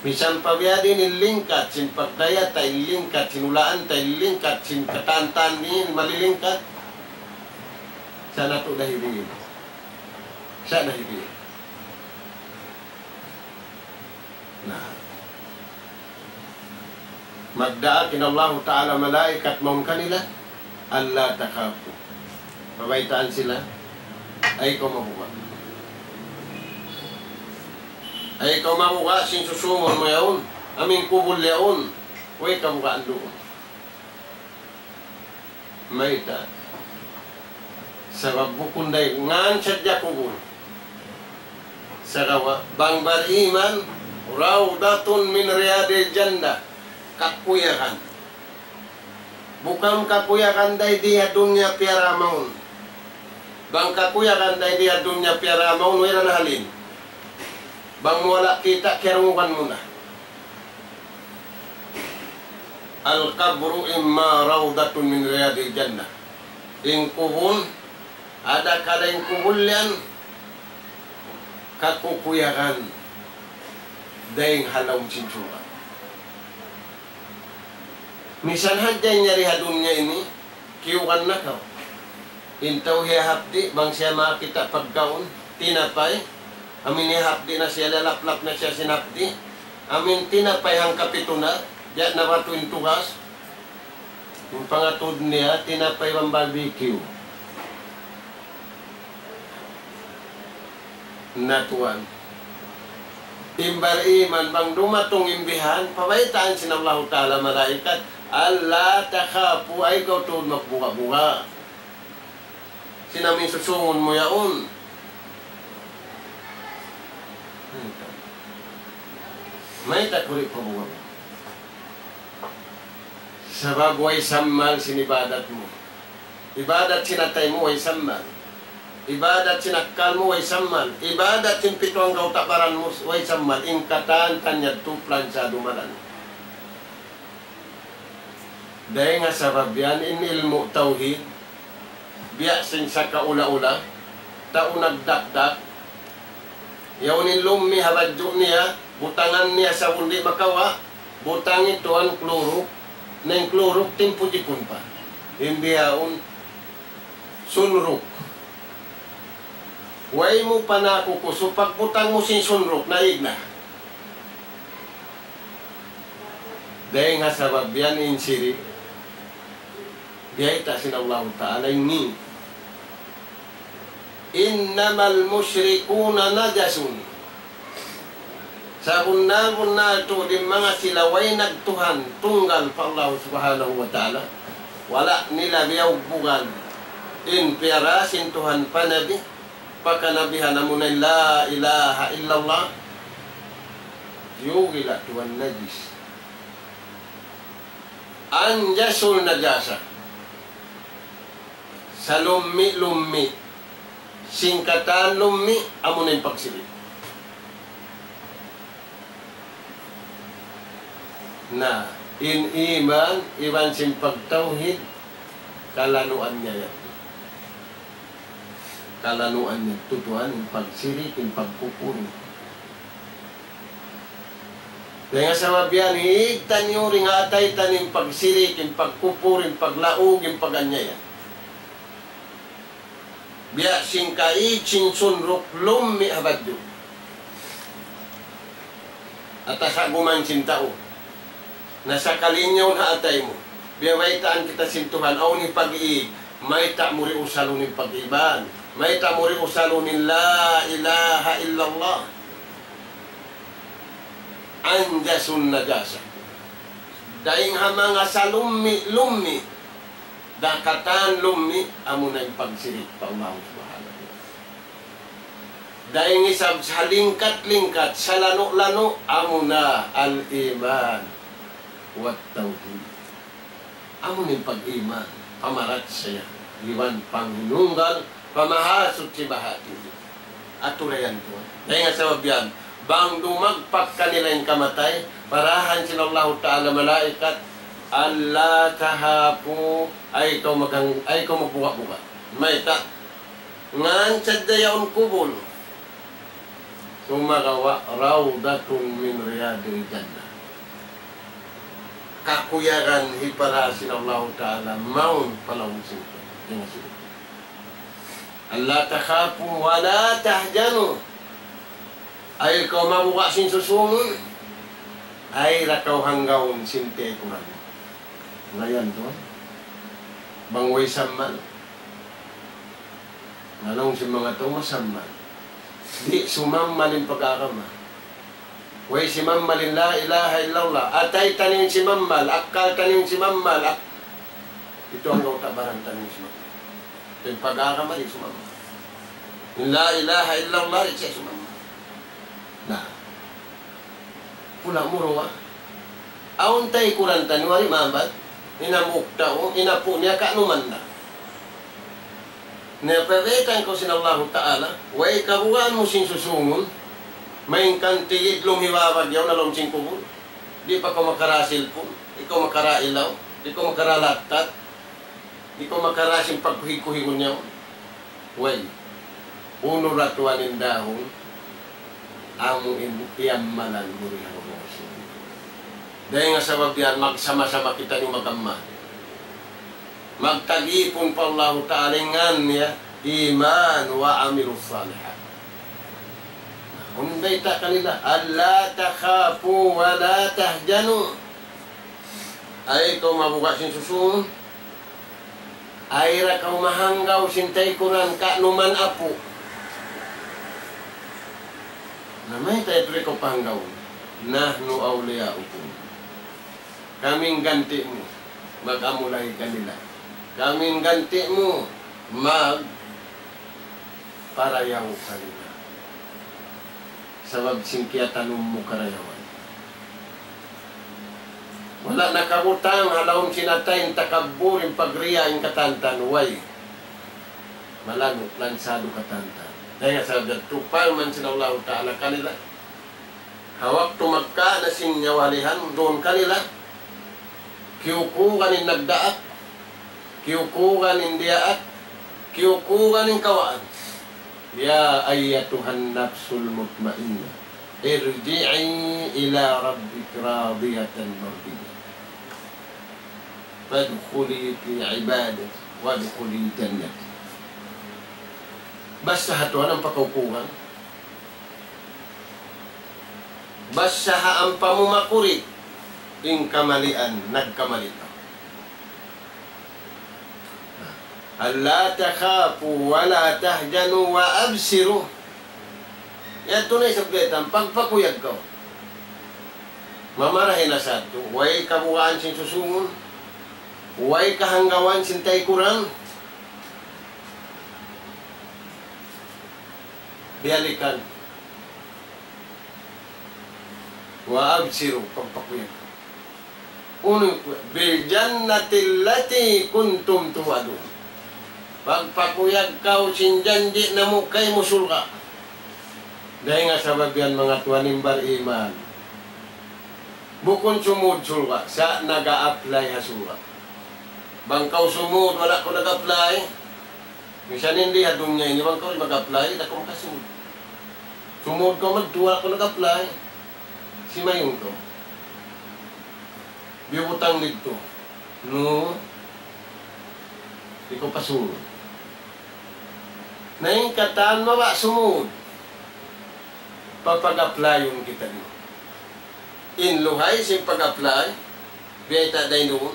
Misan pa biya' diin in lingkat sin pagdaya ta, in lingkat sin ulaan ta, in lingkat sin katan-katan ini malilingkat. Sa' natu' dahibiin. Sa' dahibiin. Na. Magdaak in Allahu Ta'ala malaikat mawn kanila, ألا تخافوا. Pabaytaan sila, ayaw kaw mabuga'. Ayaw kaw mabuga' sin susūngun mu yaun, amu in kubul yaun, way kabugaan duun. Mayta'? Sabab bukun dayn ngan sadja kubul. Sagawa' bang bariman, روضة من رياض الجنة. Kakuyagan. Bukun kakuyagan dayn di ha dunya piyara mawn. Bang kakuyagan dayn di ha dunya piyara mawn, wala' na halin. Bang mu wala' kita', kiyarungugan mu na. القبر إما روضة من رياض الجنة. In kubul, ada kala in kubul yan, kakukuyagan dayn ha lawm sin surga'. Misan hadja in yari ha dunya ini, kiyugan na kaw. In tau hiyahapdi', bang siya makakita' pagkaun, tinapay. Amu in hiyahapdi' na siya, lalaplap na siya sin hapdi'. Amu in tinapay hangkapitu na, biya' na batu in tugas. In pangatud niya, tinapay bang barbecue. Na tuwan. In bariman bang dumatung in bihan, pabaytaan sin Allahu Ta'ala malaikat, ألا تخافوا, ayaw kaw tuud magbuga-buga. Sin amu in susungun mu yaun. Mayta' kaw di' pabuga'? Sabab way sammal sin ibadat mu. Ibadat sin atay mu way sammal. Ibadat sin akkal mu way sammal. Ibadat sin pitu anggawta' baran mu way sammal. In katan-katan yadtu planchado malan. Dayn ha sabab yan in ilmu' tawhid, biya' sin sakaula-ula, tau nagdakdak, yaun in lummi' ha badju' niya, butangan niya sabun di' makawa', butang tuwan Clorox, na in Clorox timpu jipun pa. Hindi yaun Sunrox. Way mu pa nakukusu, pagbutang mu sin Sunrox, naig na. Dayn ha sabab yan in sirik, biyayta' sin Allahu Ta'ala ini. إنما المشركون نجس. Sabunnal-bunnal tuud in manga sila way nagtuhan tunggal pa Allah Subhanahu wa Ta'ala. Wala' nila biyugbugan in piyara sin Tuhan pa Nabi, pa kanabihan amuna in لا إله إلا الله. Yugila tuwan najis. أنجس النجاسة. Salummi'-lummi'. Sin katan lummi', amuna in pagsirik. Na, in iman, iban sin pagtawhid, kalanuan niya yan. Kalanuan niya tutuan, in pagsirik, in pagkupur. Dayn ha sabab yan, higtan niyu dayn ha atay taniyu in pagsirik, in pagkupur, in paglaug, in pag-anyaya. Biya' sin kaig sin sunruk lummi' ha badju'. Atasaguman sin tau. Na sakali niya yaun ha atay mu. Biya' baytaan kita sin Tuhan, awn hipag-iig, mayta' mu di' usalun in pag-iiban. Mayta' mu di' usalun in لا إله إلا الله. أنجس النجاسة. Dayn ha manga salummi'-lummi', dakatan lummi', amuna in pagsirik pa Allah Subhanahu wa Ta'ala. Dayn isab salingkat-lingkat, salanu'-lanu', amuna الإيمان والتوحيد. Amu in pag-iman, pamarachaya, iban panghinunggal, pa Mahasuchi Baha' Tuhan. Aturan tuwan. Dayn ha sabab yan, bang dumagpak kanila in kamatay, parahan sin Allahu Ta'ala malaikat, ألا تخافوا, ayaw kaw maghang-, ayaw kaw magbuga-buga. Mayta', ngan sadja yaun kubul. Sumagawa' روضة من رياض الجنة. Kakuyagan hipara sin Allahu Ta'ala mawn pa lawm sin surga'. Yan in surga'. ألا تخافوا ولا تحزنوا. Ayaw kaw mabuga' sin susungun. Ayaw da kaw hanggaun sin tikuran. Ngayan tuwan. Bang way sammal. Laung sin manga tau masammal. Di' sumammal in pag-agama. Way simammal in لا إله إلا الله. Atay taniyu in simammal, akkal taniyu in simammal, ak-, pitu anggawta' baran taniyu in simammal. In pag-agama di' sumammal. In لا إله إلا الله di' siya sumammal. Na. Pula mu duwa. Awn taykuran taniyu, wari' mabat. In hambuuk tau, in apu' niya kanuman na. Na, piyayta' kaw sin Allahu Ta'ala, way kabugaan mu sin susungun, malayngkan tigidlum hibabag yaun ha lawm sin kubul. Di' pa kaw makara cellphone, di' kaw makara ilaw, di' kaw makara laptop, di' kaw makara sin pagkuhig-kuhigun yaun. Way. Unu ra tuwan in dahun, amu in iyammalan mu ri ha Rasul. Dayn ha sabab yan, magsama-sama kitaniyu mag-ammal. Magtagipun pa Allahu Ta'ala in ngan niya, iman wa amilus salihat. Unu in bayta' kanila, ألا تخافوا ولا تحزنوا. Ay kaw mabuga' sin susungun, ay ra kaw mahanggaw sin taykuran ka numan apu'. Na mayta' yadtu di' kaw pahanggawun. نحن أولياؤكم. Kami in ganti' mu, mag-amulay kanila. Kami in ganti' mu, magparayaw kanila. Sabab sin kiyatanum mu karayawan. Wala' nakabutang ha lawm sin atay in takabbur, in pagriya, in katantan, way. Malanuk, lansadu katantan. Dayn ha sabab yadtu, parman sin Allahu Ta'ala kanila. Ha waktu magka na sin nyawalihan, duun kanila. Kiyukugan in nagdaak, kiyukugan in diyaak, kiyukugan in kawaan. يا أيتها النفس المطمئنة ارجعي إلى ربك راضية مرضية فادخلي في عبادي وادخلي جنتي. Basta ha Tuhan ampa kaw kukugan. Basta ha ampa mu makurig in kamalian, nagkamali kaw. ألا تخافوا ولا تحزنوا وأبشروا. Yadtu na isab kaitan, pagpakuyag kaw. Mamarahi na sadtu, way kabugaan sin susungun, way kahanggawan sin taykuran. Biyalikan. وأبشروا, pagpakuyag. Unu ku-, بالجنة التي كنتم توعدون. Pagpakuyag kaw sin janji' namu' kaymu surga'. Dayn ha sabab yan manga tuwan in bariman. Bukun sumud surga', sa' naga-apply ha surga'. Bang kaw sumud, wala' kaw nag-apply. Misan in di ha dunya ini, bang kaw di' mag-apply, da' kaw makasud. Sumud kaw madtu, wala' kaw nag-apply. Simayun kaw. Biyutang didtu. Nu, di' kaw pasud. Na in katan mabaya' sumud. Papag-applyun kitaniyu. In luhay sin pag-apply, biyayta' dayn duun.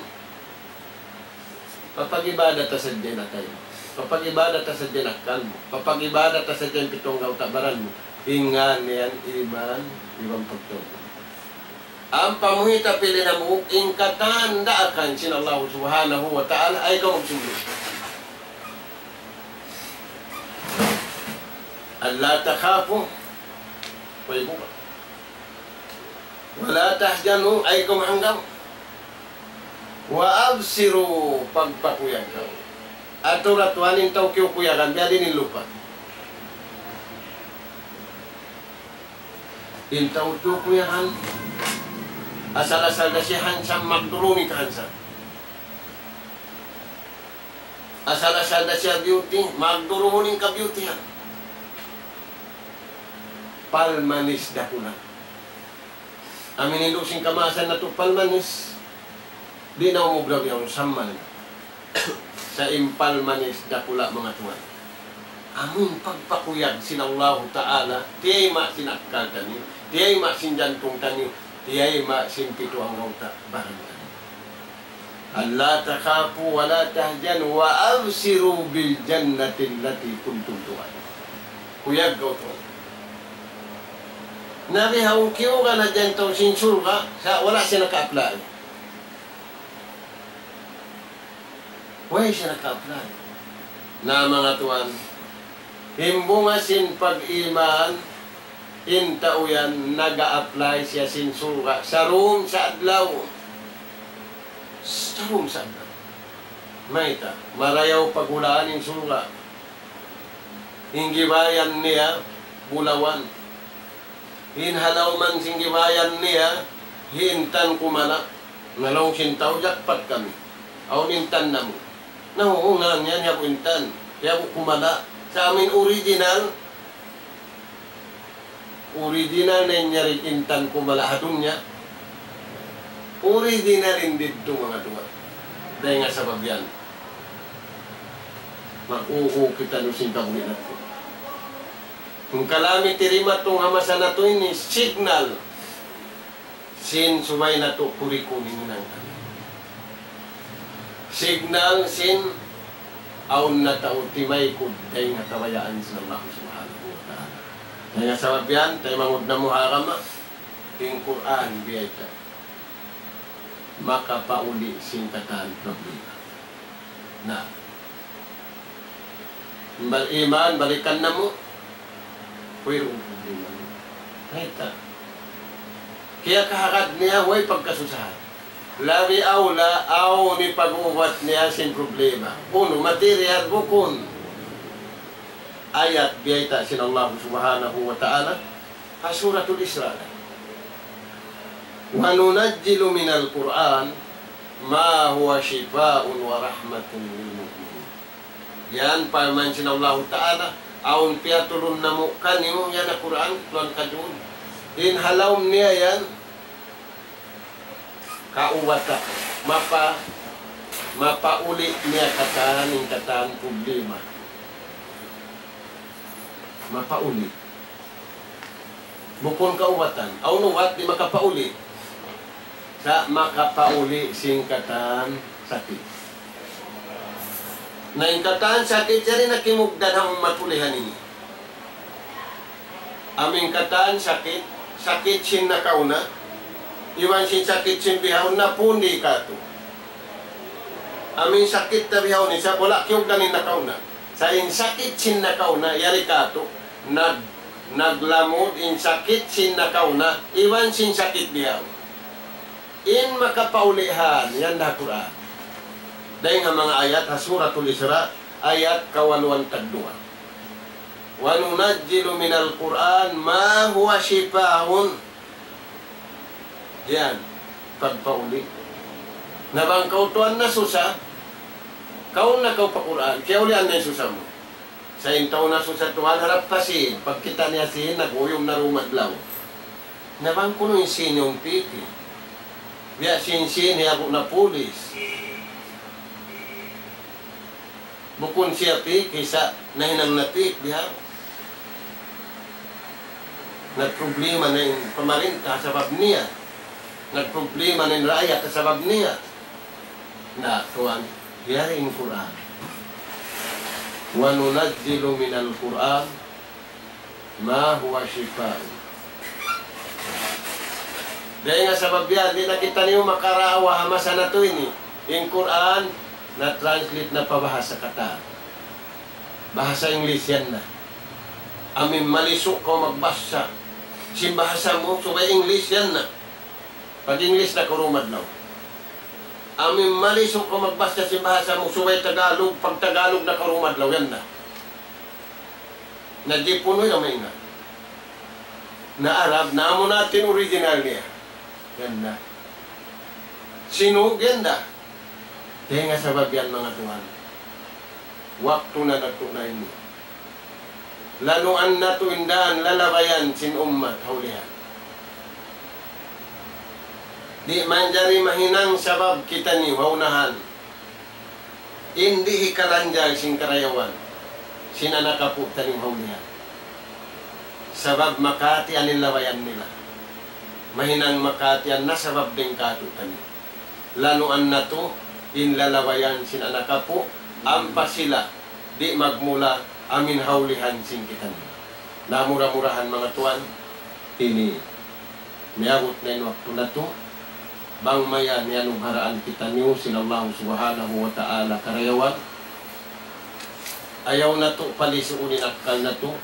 Papag-ibadat ta sadja in atay mu. Papag-ibadat ta sadja in akkal mu. Papag-ibadat ta sadja in pitu anggawta' baran mu. In ngan niyan iman, iban pagtawbat. Ampa mu hita pili na mu, in katan daakan sin Allah Subhanahu wa Ta'ala, ay kaw magsumud. ألا تخافوا. Way buka. ولا تحزنوا, ay kaw mahanggaw. وأبشروا, pagpakuyag kaw. Atu ra tuwan in tau kiyukuyagan, biya' diin in lupa. In tau kiyukuyagan, asal-asal da siya handsome, magdurumi ka handsome. Asal-asal da siya beauty, magdurumi in ka-beauty yan. Palmanis dakula'. Amu in hindu' sin kamaasan natu' palmanis, di' na umugraw yaun sammal. Sa' in palmanis dakula' manga tuwan. Amu in pagpakuyag sin Allahu Ta'ala, tiyayma' sin akkal taniyu, tiyayma' sin jantung taniyu, tiyayma' sin pitu anggawta' baran taniyu. ألا تخافوا ولا تحزنوا وأبشروا بالجنة التي كنتم توعدون. Kuyag kaw tuwan. Na bihaun kiyugan na yan tau sin surga', sa' wala' siya naka-apply. Way siya naka-apply. Na manga tuwan, in bunga sin pag-iman, in tau yan naga-apply siya sin surga' sarum sa adlaw. Sarum sa adlaw. Mayta', marayaw paghulaan in surga'. In gibayan niya, bulawan. In ha lawm sin gibayan niya, intan kumala'. Na laung sin tau, jackpot kami. Awn intan namu'. Na, uu, ngan yan, hiyabu intan. Hiyabu kumala'. Sa' amu in original, original na in yari intan kumala' ha dunya. Original in didtu manga tuwan. Dayn ha sabab yan. Mag-uu kita nu sin kabuli natu'. Hangkan kami tirimatung ha masa natu' ini signal sin subay natu' kurikun in hinang kami. Signal sin awn na tau timaykud dayn ha kabayaan sin Allah Subhanahu wa Ta'ala. Dayn ha sabab yan, taymanghud namu' ha agama, in Qur'an biyayta' makapauli' sin katan problema. Na. Bal iman, balikan namu'. Wayruun problema. Mayta'? Kiyakahagad niya, way pagkasusahan. Labi awla, awn in pag-ubat niya sin problema. Unu, material, bukun. Ayat biyayta' sin Allah Subhanahu wa Ta'ala. Ha Suratul Isra. وَنُنَزِّلُ مِنَ الْقُرْآنِ مَا هُوَ شِفَاءٌ وَرَحْمَةٌ لِلْمُؤْمِنِينَ. Yan, parman sin Allahu Ta'ala, awn piyatulun namu' kaniyu, yan ha Qur'an, tuwan kajun. In ha lawm niya yan, kaubatan, mapa-, mapauli' niya katan, in katan problema. Mapauli'. Bukun kaubatan. Awn ubat di' makapauli'. Sa' makapauli' sin katan sakit. Na in katan sakit, yari na kimugdan ha ummat ulihan ini. Amu in katan sakit, sakit sin nakauna, iban sin sakit sin bihaun na pundi katu'. Amu in sakit ta bihaun, isab wala' kiyugdan in nakauna. Sa' in sakit sin nakauna, yari katu', nag-, naglamud in sakit sin nakauna, iban sin sakit bihaun. In makapaulihan, yan da Qur'an. Dayn ha manga ayat ha Suratul Isra, ayat kawaluan tagduwa. وَنُنَزِّلُ مِنَ الْقُرْآنِ مَا هُوَ شِفَاءٌ. Yan, pagpauli'. Na bang kaw tuwan nasusa, kaun na kaw pa Qur'an, kiyaulian na in susa mu. Sa' in tau nasusa tuwan harap pa sin, pagkita' niya sin, nag-uyum na rūm adlaw. Na bang kunu' in sin yung piki. Biya' sin sin, hiyabu na pulis. Bukun siya piki sa' nahinang na piki biya'. Nagproblema na in pamarinta sabab niya. Nagproblema na in raayat sabab niya. Na, tuwan, yari in Qur'an. وَنُنَزِّلُ مِنَ الْقُرْآنِ مَا هُوَ شِفَاءٌ. Dayn ha sabab yan, di' na kitaniyu makarawa ha masa natu' ini. In Qur'an, na-translate na pa bahasa katan. Bahasa English yan na. Amu in malisu' kaw magbasa sin bahasa mu, subay English yan na. Pag-English na kaw rūm adlaw. Amu in malisu' kaw magbasa sin bahasa mu, subay Tagalog, pag-Tagalog na kaw rūm adlaw, yan na. Na Jipun, way na maingat. Na Arab, na amu na in original niya. Yan na. Sinug, yan na. Dayn ha sabab yan, manga tuwan. Waktu na natu' na ini. Lanuan natu' in dan lalabayan sin ummat ha ulihan. Di' manjari mahinang sabab kitaniyu ha unahan. In di' hikalanjal sin karayawan sin anak apu' taniyu ha ulihan. Sabab makahatihan in labayan nila. Mahinang makahatihan na sabab dayn kātu'niyu. Lanuan natu' in lalabayan sin anak apu', ampa sila di' magmula amu in ha ulihan sin kitaniyu. Na mura-murahan, manga tuwan, ini miyabut na in waktu natu', bang mayan iyanugharaan kitaniyu sin Allah Subhanahu wa Ta'ala karayawan. Ayaw natu' palisuun in akkal natu',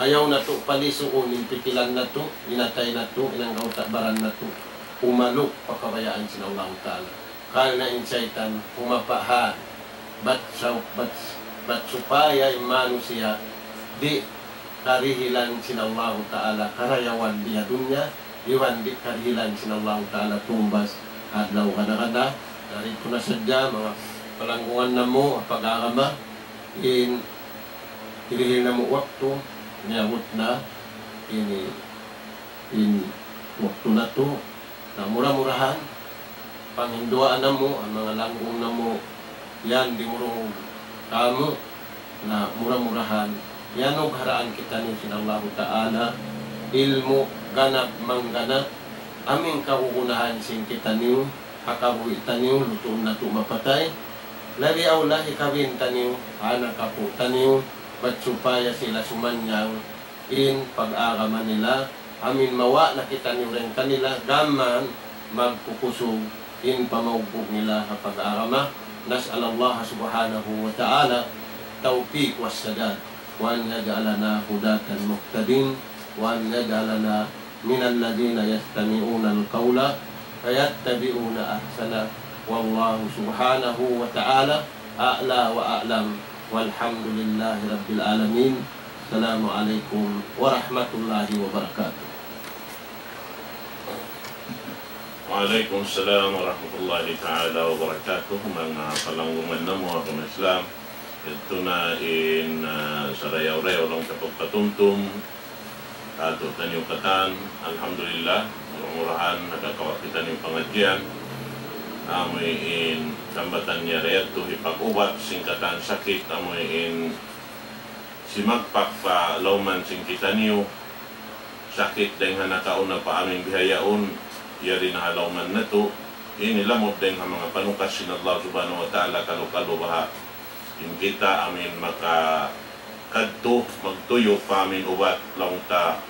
ayaw natu' palisuun in pikilan natu', in atay natu', in anggawta' baran natu', umaluk pa kabayaan sin Allahu Ta'ala. Karna' in saytan, humapa' han, bat sa-, bat, bat supaya in manusiya' di' karihilan sin Allahu Ta'ala karayawan di ha dunya, iban di' karihilan sin Allahu Ta'ala tumbas adlaw kada-kada. Dari itu na sadja, manga palanggungan namu' pag-agama, in hirihil namu' waktu, miyabut na ini, in waktu natu', na mura-murahan, panghinduwaan namu', in manga langgung namu', yan dimurung kamu. Na mura-murahan iyanugharaan kitaniyu sin Allahu Ta'ala ilmu' ganap mangganap, amu in kagunahan sin kitaniyu ha kabuhi' taniyu, lutuun natu' mapatay, labi awla hikabin taniyu ha anak apu' taniyu, bat supaya sila sumanyang in pag-agama nila, amu in mawa' na kitaniyu dayn kanila, gām magkukusug in pamaugbug nila ha pag-agama. نسأل الله سبحانه وتعالى التوفيق والسداد، وأن يجعلنا هداة مهتدين، وأن يجعلنا من الذين يستمعون القول فيتبعون أحسنه. والله سبحانه وتعالى أعلى وأعلم، والحمد لله رب العالمين. السلام عليكم ورحمة الله وبركاته. وعليكم السلام ورحمة الله تعالى وبركاته. Manga palanggungan namu' ha agama Islam, yadtu na in, ah, sarayaw-rayaw laung ta pagpatumtum katu' taniyu katan. Alhamdulillah, mura-murahan nakakawa' kitaniyu pangadjian. Amu in sambatan niya da yadtu hipag-ubat sin katan sakit, amu in simagpak pa lawman sin kitaniyu, sakit dayn ha nakauna pa amu in bihaun, yari na ha lawman natu'. Ini lamud dayn ha manga panukas sin Allah Subhanahu wa Ta'ala, kalu-kalu baha' in kita amu in makakadtu magtuyu' pa amu in ubat laung ta,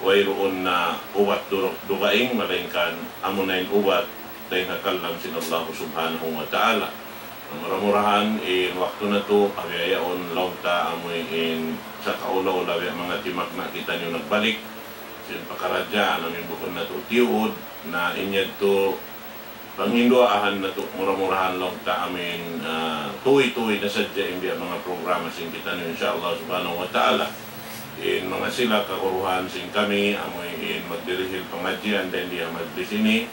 wayruun na ubat du-, dugaing, malaingkan amuna in ubat dayn ha kalam sin Allah Subhanahu wa Ta'ala. Na mura-murahan in waktu natu', bihaun laung ta amu in sakaula-ula biya' manga timagna' kitaniyu nagbalik sin pakaradjaan amu in bukun natu' tiyuud, na in yadtu panghinduan natu', mura-murahan laung ta amu in, ah, tuwi-tuwi na sadja in biya' manga programa sin kitaniyu, insya Allah Subhanahu wa Ta'ala. In manga sila kaguruhan sin kami, amu in magdirihil pangadjian dayn di ha majlis ini,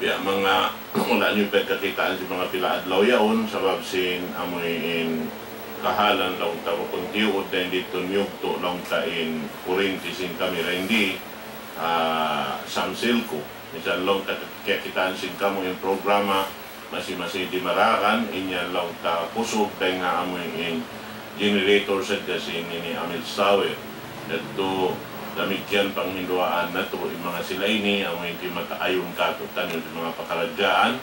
biya' manga wala' niyu pagkakitaan sin manga pila adlaw yaun, sabab sin amu in kahalan laung ta bukun tiyuud dayn didtu miyugtu' laung ta in kurinti sin kami dayn di, ah, Samsilco. Misan laung ta kiyakitaan sin kamu in programa, masi-masi di maragan, in yan laung ta kusug dayn ha amu in generator sadja sin ini Amil Sawer. Yadtu damikkiyan panghinduan natu' in manga sila ini, amu in timataayun katu' taniyu sin manga pakaradjaan,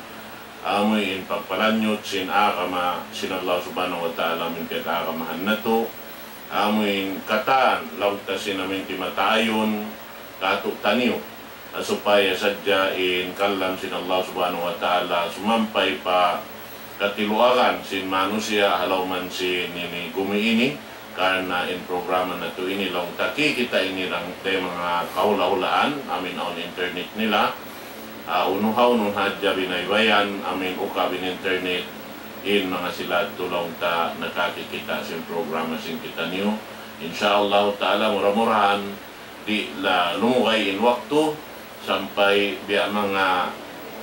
amu in pagpalanyut sin agama sin Allah Subhanahu wa Ta'ala, amu in piyag-agamahan natu', amu in katan laung ta sin amu in timataayun katu' taniyu, supaya sadja in kalam sin Allah Subhanahu wa Ta'ala sumampay pa katiluagan sin manusiya' ha lawm sin ini gumi ini, karna' in programa natu' ini laung ta kikita' ini dayn ha manga kahula'-hulaan, amu in awn internet nila, ah, unu ha unu hadja binaybayan, amu in ukab in internet, in manga sila tuud laung ta nakakikita' sin programa sin kitaniyu. Insya Allah Ta'ala, mura-murahan di' na lumugay in waktu, sampay biya' manga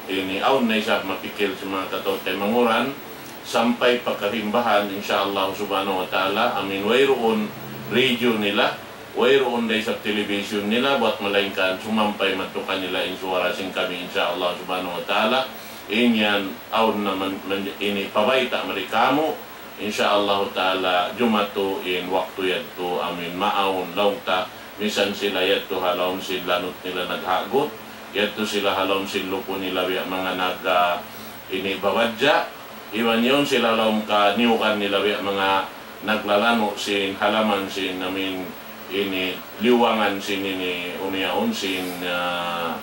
ini awn na isab mapikil sin manga kataw-taymanghuran, sampay pa karimbahan, insya Allah Subhanahu wa Ta'ala, amu in wayruun radio nila, wayruun da isab television nila, bat malaingkan sumampay madtu kanila in suwara sin kami, insya Allah Subhanahu wa Ta'ala. In yan awn na man, man, ini pabayta' mari kamu, insya Allah Ta'ala, jumatu in waktu yadtu, amu in maawn laung ta, misan sila yadtu ha lawm sin lanut nila naghagut, yadtu sila ha lawm sin lupu' nila biya' manga nag, ah, ini babadja', iban yaun sila ha lawm kaniyugan nila biya' manga naglalanu' sin halaman sin amu in ini liyuwangan sin ini unu yaun sin, ah,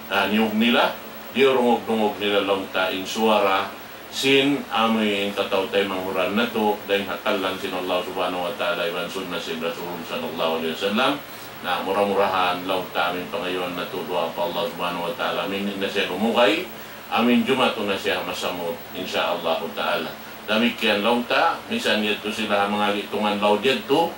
ah, niyug nila, diyurungug-dungug nila laung ta in suwara sin amu in kataw-taymanghuran natu', dayn ha kalam sin Allah Subhanahu wa Ta'ala, iban sunnah sin Rasul sallallahu alayhi wasallam. Na mura-murahan laung ta amu in pangayuan natu' duwaa pa Allah Subhanahu wa Ta'ala, amu in di' na siya lumugay, amu in jumatu na siya masamut, insya Allah Ta'ala. Damikkiyan laung ta, misan yadtu sila ha manga gitungan laud yadtu,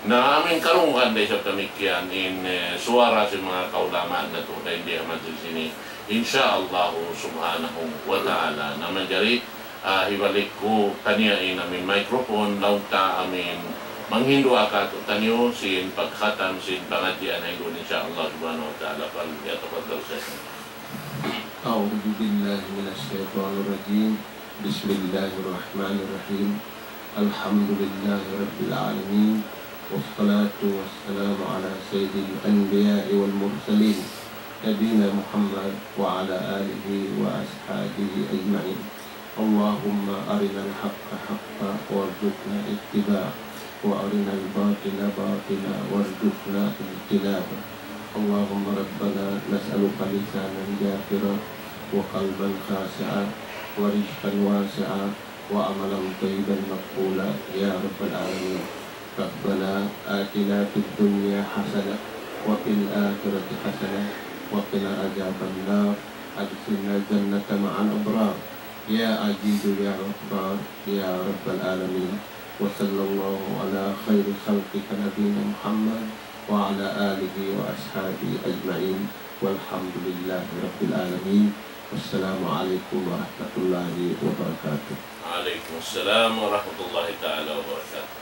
na amu in karungugan da isab damikkiyan in, eh, suwara sin manga kaulamaan natu' dayn di ha majlis ini. Insya Allah Subhanahu wa Ta'ala. Na manjari, ah, hibalik ku kaniya in amu in microphone, laung ta amu in manghindu' katu' taniyu sin pagkhatam sin pangadjian ha ini, insya Allah Subhanahu wa Ta'ala. فليتفضل شيخنا. أعوذ بالله من الشيطان الرجيم. بسم الله الرحمن الرحيم. الحمد لله رب العالمين، والصلاة والسلام على سيد الأنبياء والمرسلين، نبينا محمد وعلى آله وأصحابه أجمعين. اللهم أرنا الحق حقا وارزقنا اتباعه، وأرنا الباطل باطلا وارزقنا اجتنابه. اللهم ربنا نسألك لسانا ذاكرا وقلبا خاشعا ورزقا واسعا وعملا طيبا مقبولا يا رب العالمين. ربنا آتنا في الدنيا حسنة وفي الآخرة حسنة وقنا عذاب النار. أدخلنا الجنة مع الأبرار يا عزيز يا غفار يا رب العالمين. وصلى الله على خير خلقك نبينا محمد وعلى آله وأصحابه أجمعين. والحمد لله رب العالمين. والسلام عليكم ورحمة الله وبركاته. وعليكم السلام ورحمة الله تعالى وبركاته.